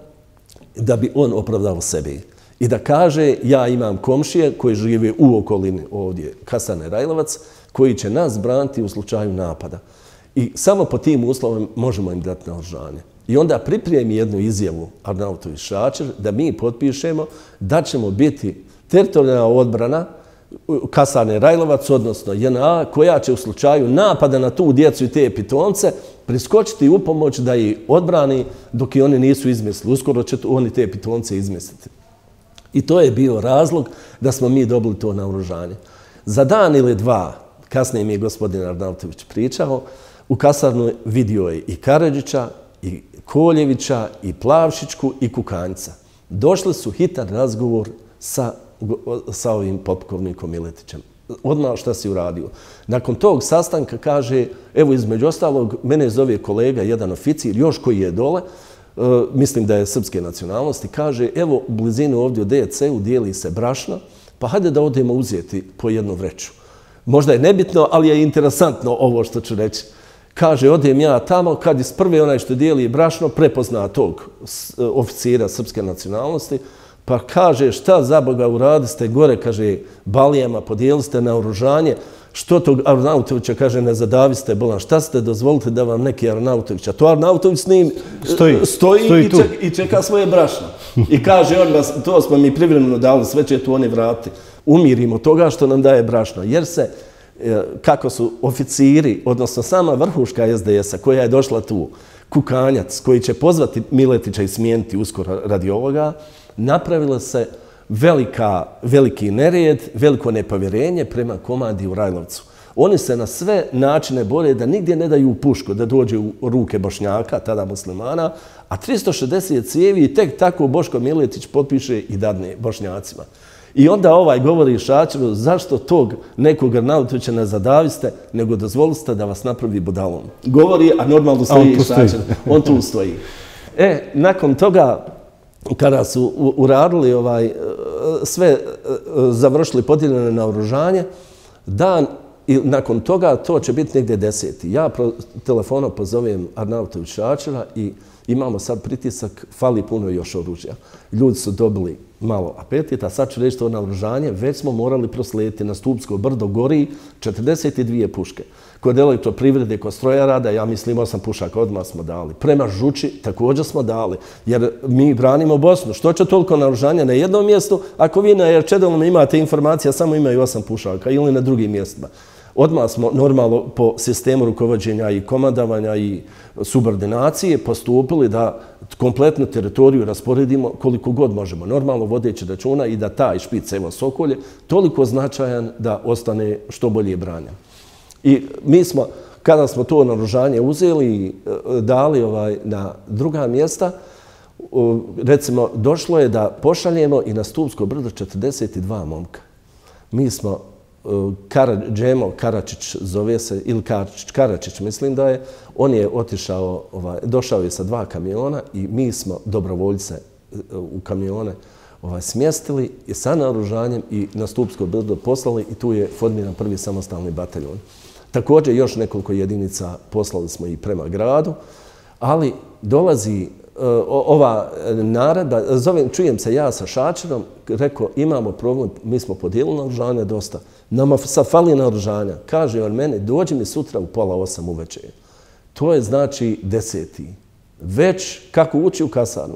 [SPEAKER 2] da bi on opravdao sebi. I da kaže, ja imam komšije koji žive u okolini ovdje, kasarne Rajlovac, koji će nas braniti u slučaju napada. I samo po tim uslovima možemo im dati naoružanje. I onda pripremi jednu izjavu Arnautović Šačer da mi potpišemo da ćemo biti teritorijalna odbrana kasarne Rajlovac, odnosno JNA, koja će u slučaju napada na tu djecu i te pitomce priskočiti u pomoć da ih odbrani dok i oni nisu izmislili. Uskoro će oni te pitomce izmisliti. I to je bio razlog da smo mi dobili to naoružanje. Za dan ili dva, kasnije mi je gospodin Arnautović pričao, u kasarnu vidio je i Karadžića, i Koljevića, i Plavšićku, i Kukanjca. Došli su hitan razgovor sa ovim potpukovnikom Miletićem. Odmah šta si uradio. Nakon tog sastanka kaže, evo između ostalog, mene zove kolega, jedan oficir, još koji je dole, mislim da je srpske nacionalnosti, kaže, evo u blizinu ovdje u DC-u dijeli se brašno, pa hajde da odemo uzeti po jednu vreću. Možda je nebitno, ali je interesantno ovo što ću reći. Kaže, odem ja tamo, kad iz prve onaj što dijeli brašno prepozna tog oficira srpske nacionalnosti, pa kaže, šta za Boga uradiste gore, kaže, balijama, podijeli ste naoružanje, što tog Arnautovića, kaže, ne zadaviste bolan, šta ste dozvolite da vam neki Arnautović, a to Arnautović s njim stoji i čeka svoje brašno. I kaže, to smo mi privremeno dali, sve će tu oni vrati. Umirimo toga što nam daje brašno, jer se, kako su oficiri, odnosno sama vrhuška SDS-a koja je došla tu, Kukanjac, koji će pozvati Miletića i smijeniti uskoro radi ovoga, napravila se veliki nered, veliko nepovjerenje prema komandi u Rajlovcu. Oni se na sve načine bore da nigdje ne daju pušku, da dođe u ruke Bošnjaka, tada muslimana, a 360 cijevi i tek tako Boško Miletić potpiše i dadne Bošnjacima. I onda govori Šačeru, zašto tog nekog Arnautovića ne zadaviste, nego dozvolite da vas napravi budalom. Govori, a normalno stoji Šačer. On tu stoji. Nakon toga, kada su uradili sve, završili podijeljene naoružanje, dan i nakon toga to će biti negdje 10. Ja telefonom pozovem Arnautović Šačera i imamo sad pritisak, fali puno još oružja. Ljudi su dobili malo apetita, sad ću reći to naoružanje, već smo morali proslijediti na Stupsko brdo, gori 42 puške. Kod elektroprivrede, kod strojarada, ja mislim 8 pušaka odmah smo dali. Prema Žuči također smo dali, jer mi branimo Bosnu. Što će toliko naoružanja na jednom mjestu, ako vi na Čedelom imate informacija, samo imaju 8 pušaka ili na drugim mjestima. Odmah smo normalno po sistemu rukovođenja i komandavanja i subordinacije postupili da kompletnu teritoriju rasporedimo koliko god možemo. Normalno vodeći računa i da taj špic, evo Sokolje, toliko značajan da ostane što bolje branjen. I mi smo, kada smo to naoružanje uzeli i dali na druga mjesta, recimo, došlo je da pošaljemo i na Stupsko brdo 42 momka. Mi smo Džemo Karačić zove se, ili Karačić mislim da je, on je otišao, došao je sa 2 kamiona i mi smo dobrovoljce u kamione smjestili i sa naoružanjem i na Stupsko brdo poslali i tu je formiran prvi samostalni bataljon. Također još nekoliko jedinica poslali smo i prema gradu, ali dolazi ova naredba, čujem se ja sa Šačerom, rekao imamo problem, mi smo podijelili naoružanje dosta, nama sad fali naoružanja. Kaže on meni, dođi mi sutra u 7:30 uveče. To je znači 10. Već kako ući u kasarnu.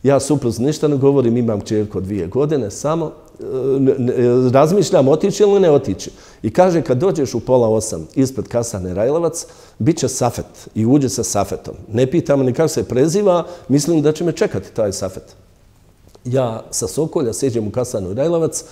[SPEAKER 2] Ja suprotno ništa ne govorim, imam kćerku od 2 godine, samo razmišljam otići ili ne otići. I kaže, kad dođeš u 7:30 ispred kasarne Rajlovac, bit će safet i uđe sa safetom. Ne pitam ni kako se preziva, mislim da će me čekati taj safet. Ja sa Sokolja seđem u kasarnu Rajlovac,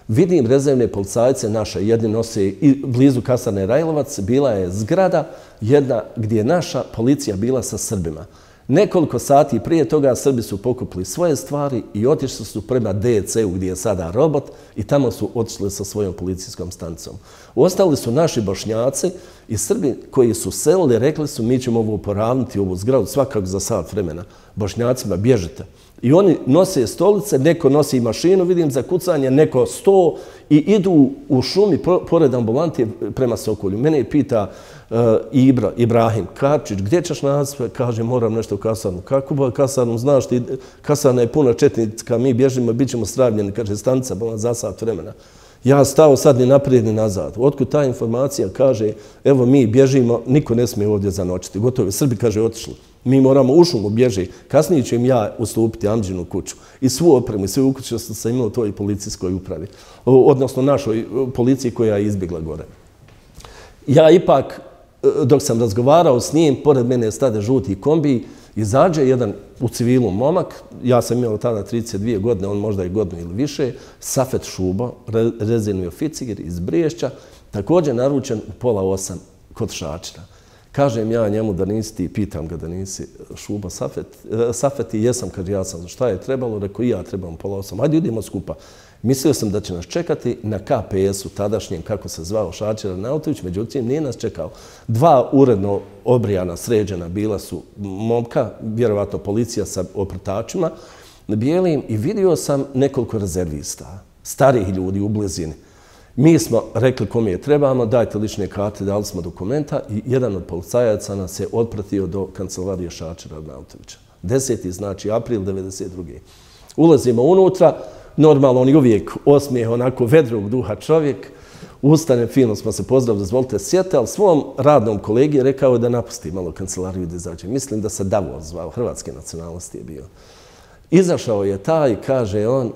[SPEAKER 2] vidim rezervne policajce naše, jedni nose i blizu kasarne Rajlovac, bila je zgrada jedna gdje je naša policija bila sa Srbima. Nekoliko sati prije toga Srbi su pokupili svoje stvari i otišli su prema DC-u gdje je sada robot i tamo su otišli sa svojom policijskom stanicom. Ostali su naši Bošnjaci i Srbi koji su selili, rekli su mi ćemo ovo poravniti, ovu zgradu svakako za sat vremena. Bošnjacima bježite. I oni nose stolice, neko nosi mašinu, vidim za kucanje, neko sto i idu u šumi pored ambulantije prema Sokolju. Mene pita Ibrahim Karčić, gdje ćeš nas? Kaže, moram nešto u kasarnu. Kako bo kasarnu? Znaš ti, kasarna je puna četnika, mi bježimo, bit ćemo stravljeni, kaže, stanica bila za sat vremena. Ja stao sad ni naprijed ni nazad. Otkud ta informacija kaže, evo mi bježimo, niko ne smije ovdje zanoćiti. Gotovo, Srbi, kaže, otišli. Mi moramo u šumu bježi. Kasnije ću im ja ustupiti Amđinu kuću. I svu opremu, i sve ukuće što sam imao u toj policijskoj upravi. Odnosno našoj policiji koja je izbjegla gore. Ja ipak, dok sam razgovarao s njim, pored mene stade žuti kombi, izađe jedan u civilu momak, ja sam imao tada 32 godine, on možda i godinu ili više, Safet Šubo, rezervni oficir iz Briješća, također naručen u 7:30 kod Šačera. Kažem ja njemu da nisi ti, pitam ga da nisi Šuba Safet i jesam, kaže ja sam, šta je trebalo, rekao i ja trebam 7:30, hajde idemo skupa. Mislio sam da će nas čekati na KPS-u tadašnjem, kako se zvao Šačer Arnautović, međutim nije nas čekao. 2 uredno obrijana, sređena bila su momka, vjerovatno policija sa oprtačima, bijelim i vidio sam nekoliko rezervista, starih ljudi u blizini. Mi smo rekli kome je trebamo, dajte lične karte, dali smo dokumenta i jedan od policajaca nas je otpratio do kancelarije Šačera Arnautovića. 10. znači april 1992. Ulazimo unutra, normalno on je uvijek osmijeh, onako vedrog duha čovjek, ustane, fino smo se pozdravili, dozvolite sjete, ali svom radnom kolegi rekao da napusti malo kancelariju da izađe. Mislim da se Davor zvao, hrvatske nacionalnosti je bio. Izašao je taj, kaže on,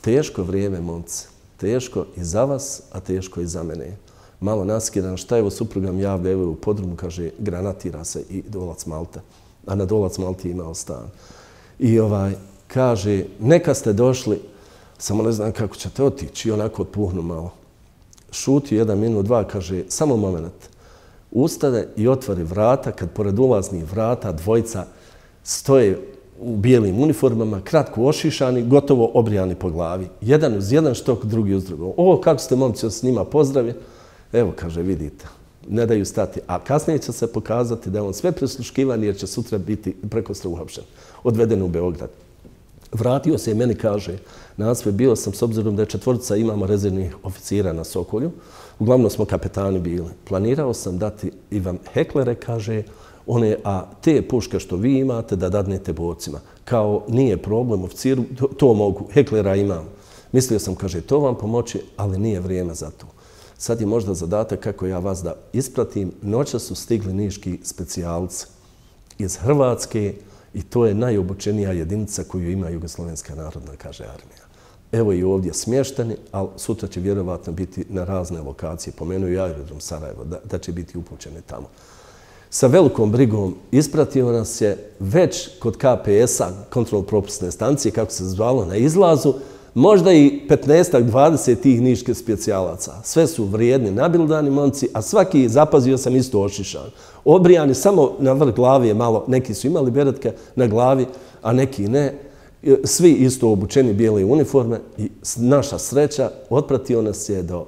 [SPEAKER 2] teško vrijeme, momci. Teško i za vas, a teško i za mene. Malo naskiran, šta evo suprugam javlja, evo u podrumu, kaže, granatira se i Dolac Malta. A na Dolac Malti imao stan. I kaže, neka ste došli, samo ne znam kako ćete otići, i onako otpuhnu malo. Šuti 1 minut, 2, kaže, samo moment. Ustane i otvori vrata, kad pored ulaznih vrata dvojica stoje u bijelim uniformama, kratko ošišani, gotovo obrijani po glavi. Jedan uz jedan štok, drugi uz drugog. O, kako ste momci s njima pozdravi? Evo, kaže, vidite, ne daju stati. A kasnije će se pokazati da je on sve prisluškivan jer će sutra biti prekostra uhapšen. Odveden u Beograd. Vratio se i meni kaže, nasve bio sam, s obzirom da je 4 imamo rezervnih oficira na Sokolju, uglavnom smo kapetani bili. Planirao sam dati Ivan Heklere, kaže, a te puške što vi imate da dadnete borcima. Kao nije problem oficiru, to mogu, Heklera imam. Mislio sam, kaže, to vam pomoći, ali nije vrijeme za to. Sad je možda zadatak kako ja vas da ispratim. Noća su stigli niški specijalci iz Hrvatske i to je najobučenija jedinica koju ima Jugoslovenska narodna, kaže armija. Evo i ovdje smješteni, ali sutra će vjerovatno biti na razne lokacije. Pomenuo i aerodrom Sarajevo, da će biti upućeni tamo. Sa velikom brigom ispratio nas je već kod KPS-a, kontrol-propusne stancije, kako se zvalo, na izlazu, možda i 15-20 tih niških specijalaca. Sve su vrijedni, nabildani momci, a svaki, zapazio sam, isto ošišan. Obrijani samo na vrh glavi je malo, neki su imali beretke na glavi, a neki ne. Svi isto obučeni bijele uniforme i naša sreća, otpratio nas je do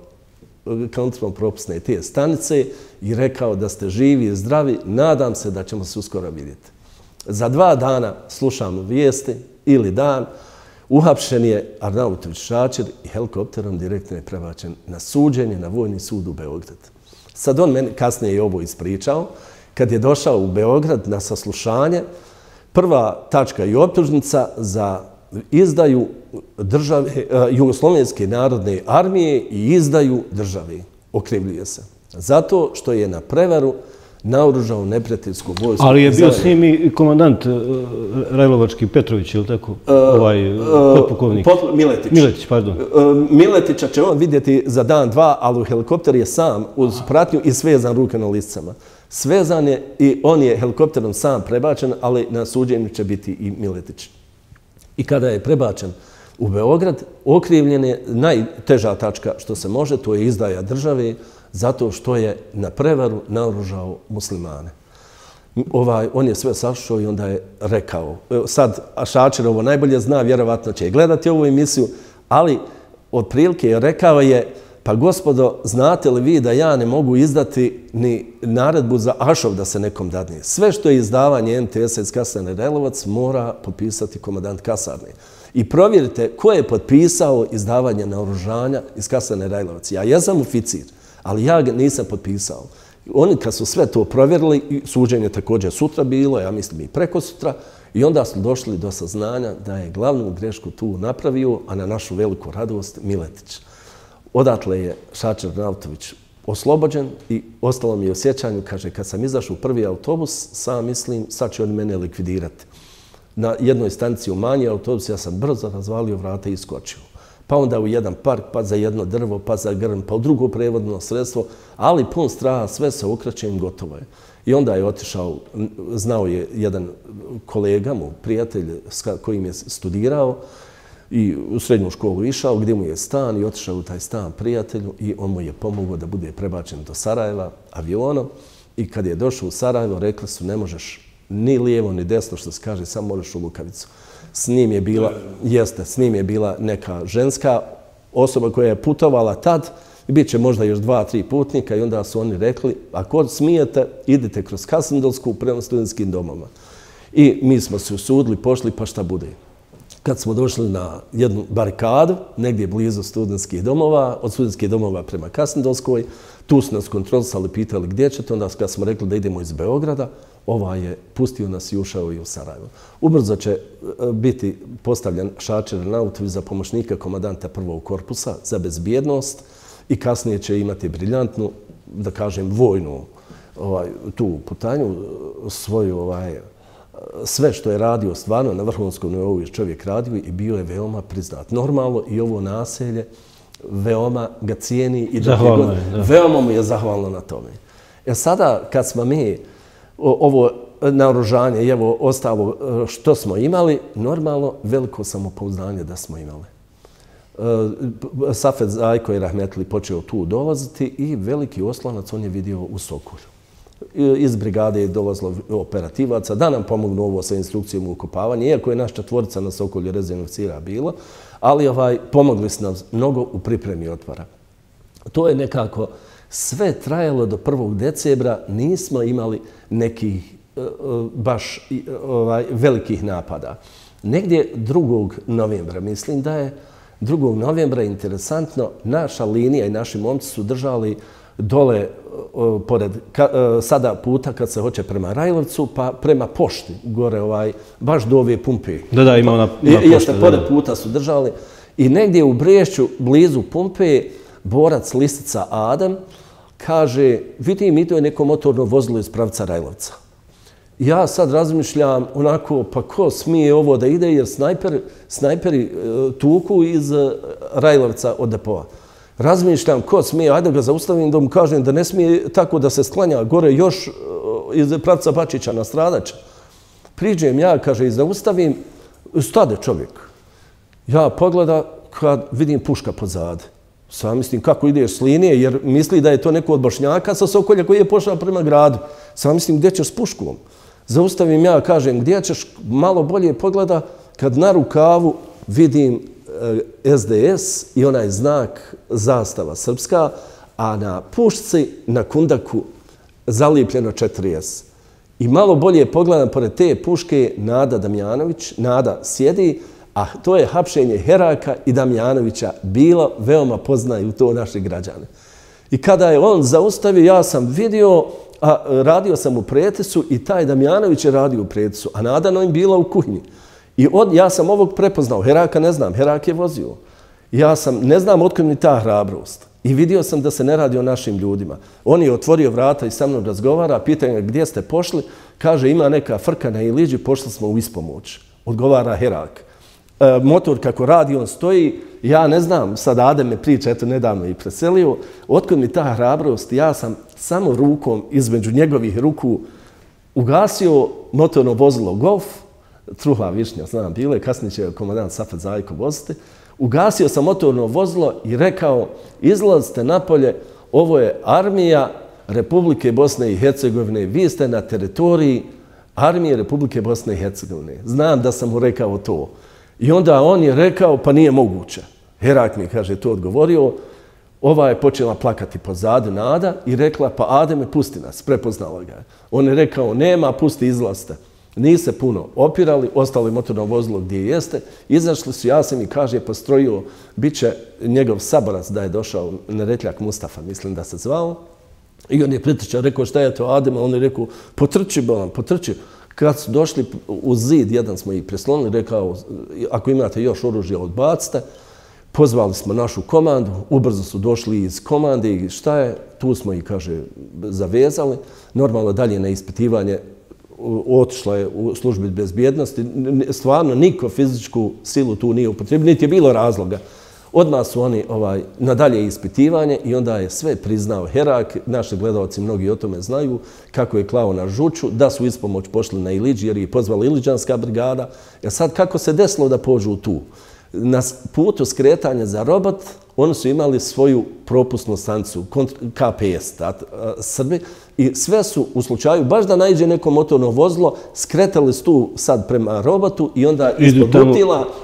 [SPEAKER 2] kontrolno-propusne te stanice i rekao da ste živi i zdravi, nadam se da ćemo se uskoro vidjeti. Za 2 dana slušam vijesti ili dan, uhapšen je Arnautović Šačer i helikopterom direktno je prebačen na suđenje na Vojni sud u Beograd. Sad on meni kasnije je ovo ispričao. Kad je došao u Beograd na saslušanje, prva tačka i optužnica za izdaju Jugoslovenske narodne armije i izdaju države. Okrivljuje se. Zato što je na prevaru naoružao neprijateljsku vojsku.
[SPEAKER 1] Ali je bio s njim i komandant Rajlovački Petrović, ili tako? Potpukovnik.
[SPEAKER 2] Miletić.
[SPEAKER 1] Miletić, pardon.
[SPEAKER 2] Miletića će on vidjeti za dan, 2, ali helikopter je sam uz pratnju i svezan ruke na lisicama. Svezan je i on je helikopterom sam prebačen, ali na suđenju će biti i Miletić. I kada je prebačen u Beograd, okrivljen je najteža tačka što se može, to je izdaja države, zato što je na prevaru naoružao muslimane. On je sve sašao i onda je rekao, sad Šačer ovo najbolje zna, vjerovatno će gledati ovu emisiju, ali otprilike rekao je, pa gospodo, znate li vi da ja ne mogu izdati ni naredbu za Ašov da se nekom dadne? Sve što je izdavanje MTS-a iz kasarne Rajlovac mora potpisati komandant kasarne. I provjerite ko je potpisao izdavanje naoružanja iz kasarne Rajlovac. Ja jesam oficir, ali ja ga nisam potpisao. Oni kad su sve to provjerili, suđenje također sutra bilo, ja mislim i preko sutra, i onda su došli do saznanja da je glavnu grešku tu napravio, a na našu veliku radost, Miletić. Odatle je Šačer Arnautović oslobođen i ostalo mi je u sjećanju, kaže, kad sam izašao u prvi autobus, sam mislim, sad će oni mene likvidirati. Na jednoj stanici u manji autobus, ja sam brzo razvalio vrata i iskočio. Pa onda u jedan park, pa za jedno drvo, pa za grm, pa u drugo prevodno sredstvo, ali pun straha, sve se okrećem, gotovo je. I onda je otišao, znao je jedan kolega mu, prijatelj s kojim je studirao, i u srednju školu išao, gdje mu je stan i otišao u taj stan prijatelju i on mu je pomogao da bude prebačen do Sarajeva avionom. I kad je došao u Sarajevo, rekli su ne možeš ni lijevo ni desno, što se kaže, samo možeš u Lukavicu. S njim je bila neka ženska osoba koja je putovala tad i bit će možda još 2-3 putnika i onda su oni rekli, ako smijete, idite kroz Kasendelsku prema studentskim domovima. I mi smo se usudili, pošli, pa šta bude. Kad smo došli na jednu barikadu, negdje blizu studentskih domova, od studentskih domova prema Kasendelskoj, tu su nas kontrolisali, pitali gdje ćete, onda kad smo rekli da idemo iz Beograda, je pustio nas i ušao i u Sarajevo. Ubrzo će biti postavljen Šačer Arnautović za pomoćnika komandanta prvog korpusa za bezbjednost i kasnije će imati briljantnu, da kažem, vojnu tu putanju, svoju sve što je radio stvarno na vrhunskom nivou je čovjek radio i bio je veoma priznat. Normalno i ovo naselje veoma ga cijeni i veoma mu je zahvalno na tome. Sada kad smo mi ovo naoružanje i evo ostalo što smo imali, normalno veliko samopouzdanje da smo imali. Safet Zajko je rahmetli počeo tu dolaziti i veliki oslonac on je vidio u Sokolju. Iz brigade je dolazilo operativaca da nam pomognu ovo sa instrukcijom u ukopavanju, iako je naš 4 na Sokolju rezervnog oficira bilo, ali pomogli su nam mnogo u pripremi otvora. To je nekako sve trajalo do 1. decembra, nismo imali nekih baš velikih napada. Negdje 2. novembra, mislim da je 2. novembra, interesantno, naša linija i naši momci su držali dole pored sada puta kad se hoće prema Rajlovcu, pa prema pošti, gore baš do ove pumpe.
[SPEAKER 1] Da, ima ona pošta.
[SPEAKER 2] Jeste, pored puta su držali. I negdje u Brešću, blizu pumpe, borac Listica Adam kaže, vidim, i to je neko motorno vozilo iz pravca Rajlovca. Ja sad razmišljam onako, pa ko smije ovo da ide, jer snajperi tuku iz Rajlovca od depoa. Razmišljam ko smije, ajde ga zaustavim da mu kažem da ne smije tako da se sklanja gore još iz pravca Bačića na Stradača. Priđem ja, kaže, i zaustavim, stade čovjek. Ja pogledam kad vidim puška pozade. Sam mislim kako ideš s linije, jer misli da je to neko od Bošnjaka sa Sokolja koji je pošao prema gradu. Sam mislim gdje ćeš s puškom. Zaustavim ja, kažem gdje ćeš, malo bolje pogleda kad na rukavu vidim SDS i onaj znak zastava srpska, a na pušci, na kundaku, zalijepljeno 4S. I malo bolje pogledam, pored te puške Nada Damjanović, Nada sjedi, a to je hapšenje Heraka i Damjanovića bilo, veoma poznaju to naši građani. I kada je on zaustavio, ja sam vidio, a radio sam u Pretesu i taj Damjanović je radio u Pretesu, a Nada im bila u kuhinji. I ja sam ovog prepoznao, Heraka ne znam, Herak je vozio. Ja sam, ne znam otkud mi ta hrabrost. I vidio sam da se ne radi o našim ljudima. On je otvorio vrata i sa mnom razgovara, pita ga gdje ste pošli, kaže ima neka frka na Iliđi, pošli smo u ispomoć. Odgovara Herak. Motor kako radi, on stoji, ja ne znam, sad Adem me priča, eto nedavno i preselio, otkud mi ta hrabrost, ja sam samo rukom između njegovih ruku ugasio motorno vozilo Golf, Truhla Višnja, znam, bile, kasnije će komandant Safet Zajko voziti, ugasio sam motorno vozilo i rekao, izlazite napolje, ovo je armija Republike Bosne i Hercegovine, vi ste na teritoriji armije Republike Bosne i Hercegovine. Znam da sam mu rekao to. I onda on je rekao, pa nije moguće. Herak mi, kaže, to odgovorio. Ova je počela plakati pozadu Nada i rekla, pa Ademe, pusti nas, prepoznala ga. On je rekao, nema, pusti, izlazite. Nije se puno opirali, ostali motorno vozilo gdje jeste. Izašli su, ja sam i kaže, postrojio, bit će njegov saborac da je došao, Neretljak Mustafa, mislim da se zvao. I on je pritrčao, rekao, šta je to Ademe? On je rekao, potrči, bolan, potrči. Kad su došli u zid, jedan smo ih preslonili, rekao, ako imate još oružja, odbacite. Pozvali smo našu komandu, ubrzo su došli iz komande i šta je, tu smo ih, kaže, zavezali. Normalno dalje na ispitivanje otišla je u službi bezbjednosti. Stvarno, niko fizičku silu tu nije upotrebio, niti je bilo razloga. Odmah su oni na dalje ispitivanje i onda je sve priznao Herak. Naši gledalci mnogi o tome znaju kako je klao na žuču, da su ispomoć pošli na Iliđi jer je pozvala Iliđanska brigada. Jer sad kako se desilo da pođu tu? Na putu skretanja za Robot oni su imali svoju propusnu stanicu, KPS, Srbi, i sve su u slučaju, baš da naiđe neko motorno vozilo, skretali su tu sad prema Robotu i onda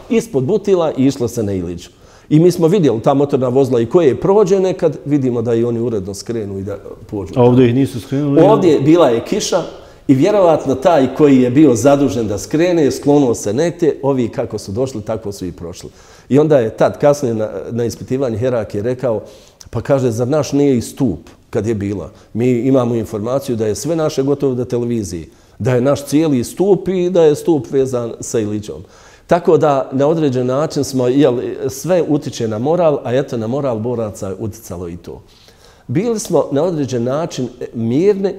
[SPEAKER 2] ispod Butila i išlo se na Iliđu. I mi smo vidjeli ta motorna vozila i koje je prođe nekad, vidimo da i oni uredno skrenu i da pođu.
[SPEAKER 1] A ovdje ih nisu skrenuli?
[SPEAKER 2] Ovdje bila je kiša i vjerovatno taj koji je bio zadužen da skrene, sklonuo se negdje, ovi kako su došli, tako su i prošli. I onda je tad kasnije na ispitivanju Herak je rekao, pa kaže, zar naš nije i stup kad je bila? Mi imamo informaciju da je sve naše gotovo do televiziji, da je naš cijeli stup i da je stup vezan sa Iliđom. Tako da na određen način smo, sve utiče na moral, a eto na moral boraca uticalo i to. Bili smo na određen način mirni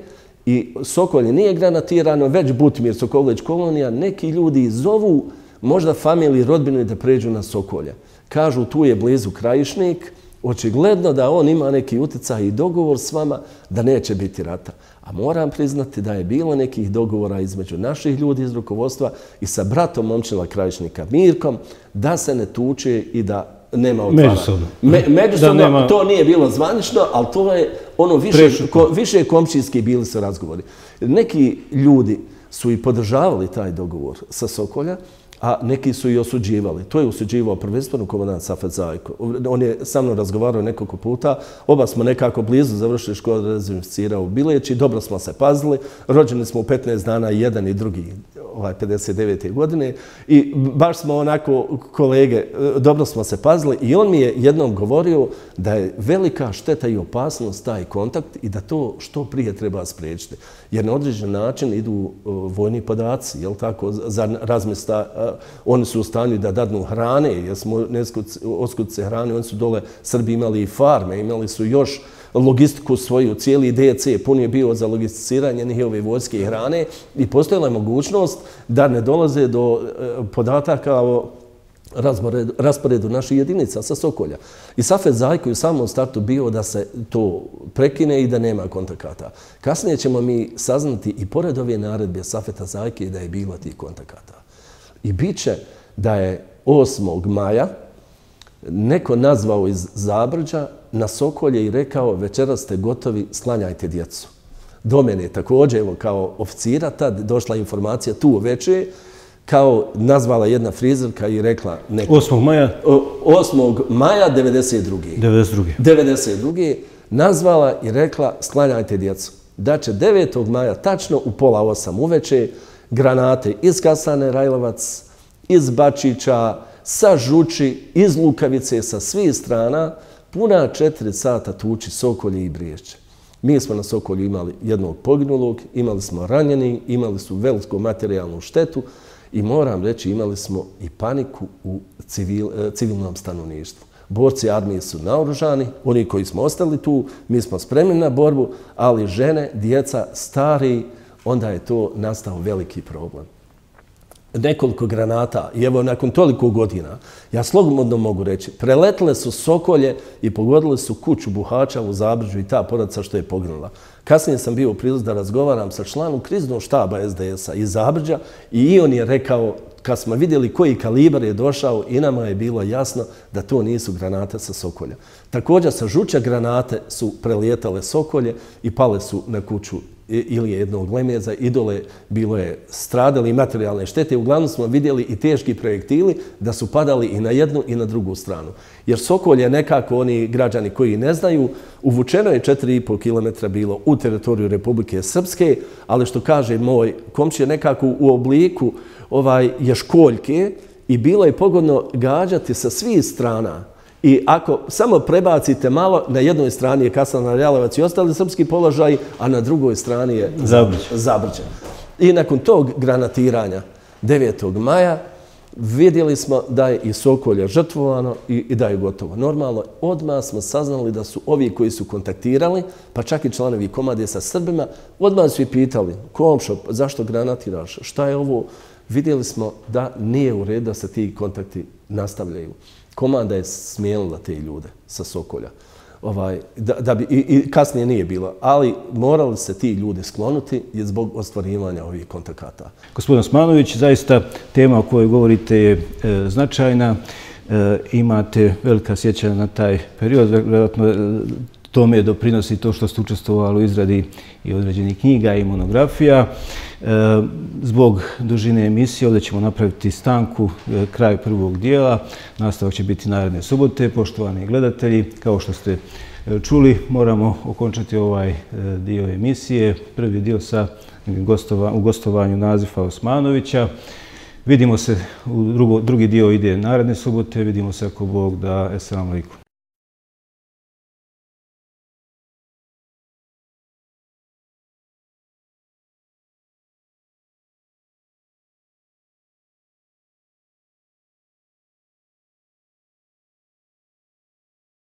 [SPEAKER 2] i Sokolje nije granatirano, već Butimir, Sokoloveć kolonija, neki ljudi zovu možda familiji, rodbinu da pređu na Sokolje. Kažu tu je blizu Krajišnik, očigledno da on ima neki uticaj i dogovor s vama da neće biti rata. A moram priznati da je bilo nekih dogovora između naših ljudi iz rukovodstva i sa bratom momčila Krajišnika Mirkom da se ne tuče i da nema otvaranja.
[SPEAKER 1] Međusobno.
[SPEAKER 2] Međusobno, to nije bilo zvanično, ali to je ono više komšijski bili su razgovori. Neki ljudi su i podržavali taj dogovor sa Sokolja, a neki su i osuđivali. To je osuđivao prvenstveno komandant Safet Zajko. On je sa mnom razgovarao nekoliko puta. Oba smo nekako blizu završili školu dezinficira u Bileći. Dobro smo se pazili. Rođeni smo u 15 dana jedan i drugi 59. godine. I baš smo onako kolege, dobro smo se pazili. I on mi je jednom govorio da je velika šteta i opasnost taj kontakt i da to što prije treba spriječiti. Jer na određen način idu vojni podaci, jel tako, za razmjesta. Oni su u stanju da dadnu hrane, jer smo oskudice hrane, oni su dole, Srbi imali i farme, imali su još logistiku svoju, cijeli DC pun je bio za logisticiranje njihove vojske i hrane i postojala je mogućnost da ne dolaze do podataka o rasporedu naših jedinica sa Sokolja. I Safet Zajko je u samom startu bio da se to prekine i da nema kontakata. Kasnije ćemo mi saznati i pored ove naredbe Safeta Zajke da je bilo tih kontakata. I bit će da je 8. maja neko nazvao iz Zabrđa na Sokolje i rekao večeras ste gotovi, sklanjajte djecu. Do mene također, evo kao oficira, tad došla informacija tu uveče, kao nazvala jedna frizerka i rekla...
[SPEAKER 1] 8. maja?
[SPEAKER 2] 8. maja 92.
[SPEAKER 1] 92.
[SPEAKER 2] nazvala i rekla sklanjajte djecu. Da će 9. maja, tačno u 7:30 uveče, granate iz Kasane Rajlovac, iz Bačića, sa Žuči, iz Lukavice, sa svih strana, puna 4 sata tuči Sokolje i Briješće. Mi smo na Sokolju imali jednog poginulog, imali smo ranjeni, imali su veliku materijalnu štetu i moram reći imali smo i paniku u civilnom stanovništvu. Borci armije su naoružani, oni koji smo ostali tu, mi smo spremni na borbu, ali žene, djeca, stari, onda je to nastao veliki problem. Nekoliko granata i evo nakon toliko godina, ja slobodno mogu reći, preletile su Sokolje i pogodile su kuću Buhača u Zabrđu i ta porodica što je poginula. Kasnije sam bio u prilici da razgovaram sa članom kriznog štaba SDS-a iz Zabrđa i on je rekao, kad smo vidjeli koji kalibar je došao, i nama je bilo jasno da to nisu granate sa Sokolja. Također sa Žuća granate su prelijetale Sokolje i pale su na kuću ili jednog Lemeza i dole bilo je stradali i materijalne štete. Uglavnom smo vidjeli i teški projektili da su padali i na jednu i na drugu stranu. Jer Sokolje nekako, oni građani koji ne znaju, uvučeno je 4,5 km bilo u teritoriju Republike Srpske, ali što kaže moj komšija nekako u obliku ješkoljke i bilo je pogodno gađati sa svih strana. I ako samo prebacite malo, na jednoj strani je Kasana Rajlovac i ostali srpski položaji, a na drugoj strani je Zabrđe. I nakon tog granatiranja 9. maja vidjeli smo da je i Sokolje žrtvovano i da je gotovo. Normalno, odmah smo saznali da su ovi koji su kontaktirali, pa čak i članovi komande sa Srbima, odmah su i pitali, komšo, zašto granatiraš, šta je ovo? Vidjeli smo da nije u redu da se ti kontakti nastavljaju. Komanda je smijenila te ljude sa Sokolja. I kasnije nije bilo, ali morali se ti ljudi sklonuti zbog ostvarivanja ovih kontakata.
[SPEAKER 1] Gospodin Osmanović, zaista tema o kojoj govorite je značajna. Imate velika sjećanja na taj period. Vjerojatno tome doprinosi to što ste učestvovali u izradi i određenih knjiga i monografija. Zbog dužine emisije ovdje ćemo napraviti stanku, kraj prvog dijela. Nastavak će biti naredne subote. Poštovani gledatelji, kao što ste čuli, moramo okončati ovaj dio emisije. Prvi dio sa gostovanju Nazifa Osmanovića. Vidimo se, drugi dio ide naredne subote. Vidimo se ako Bog da. Esselamu alaikum.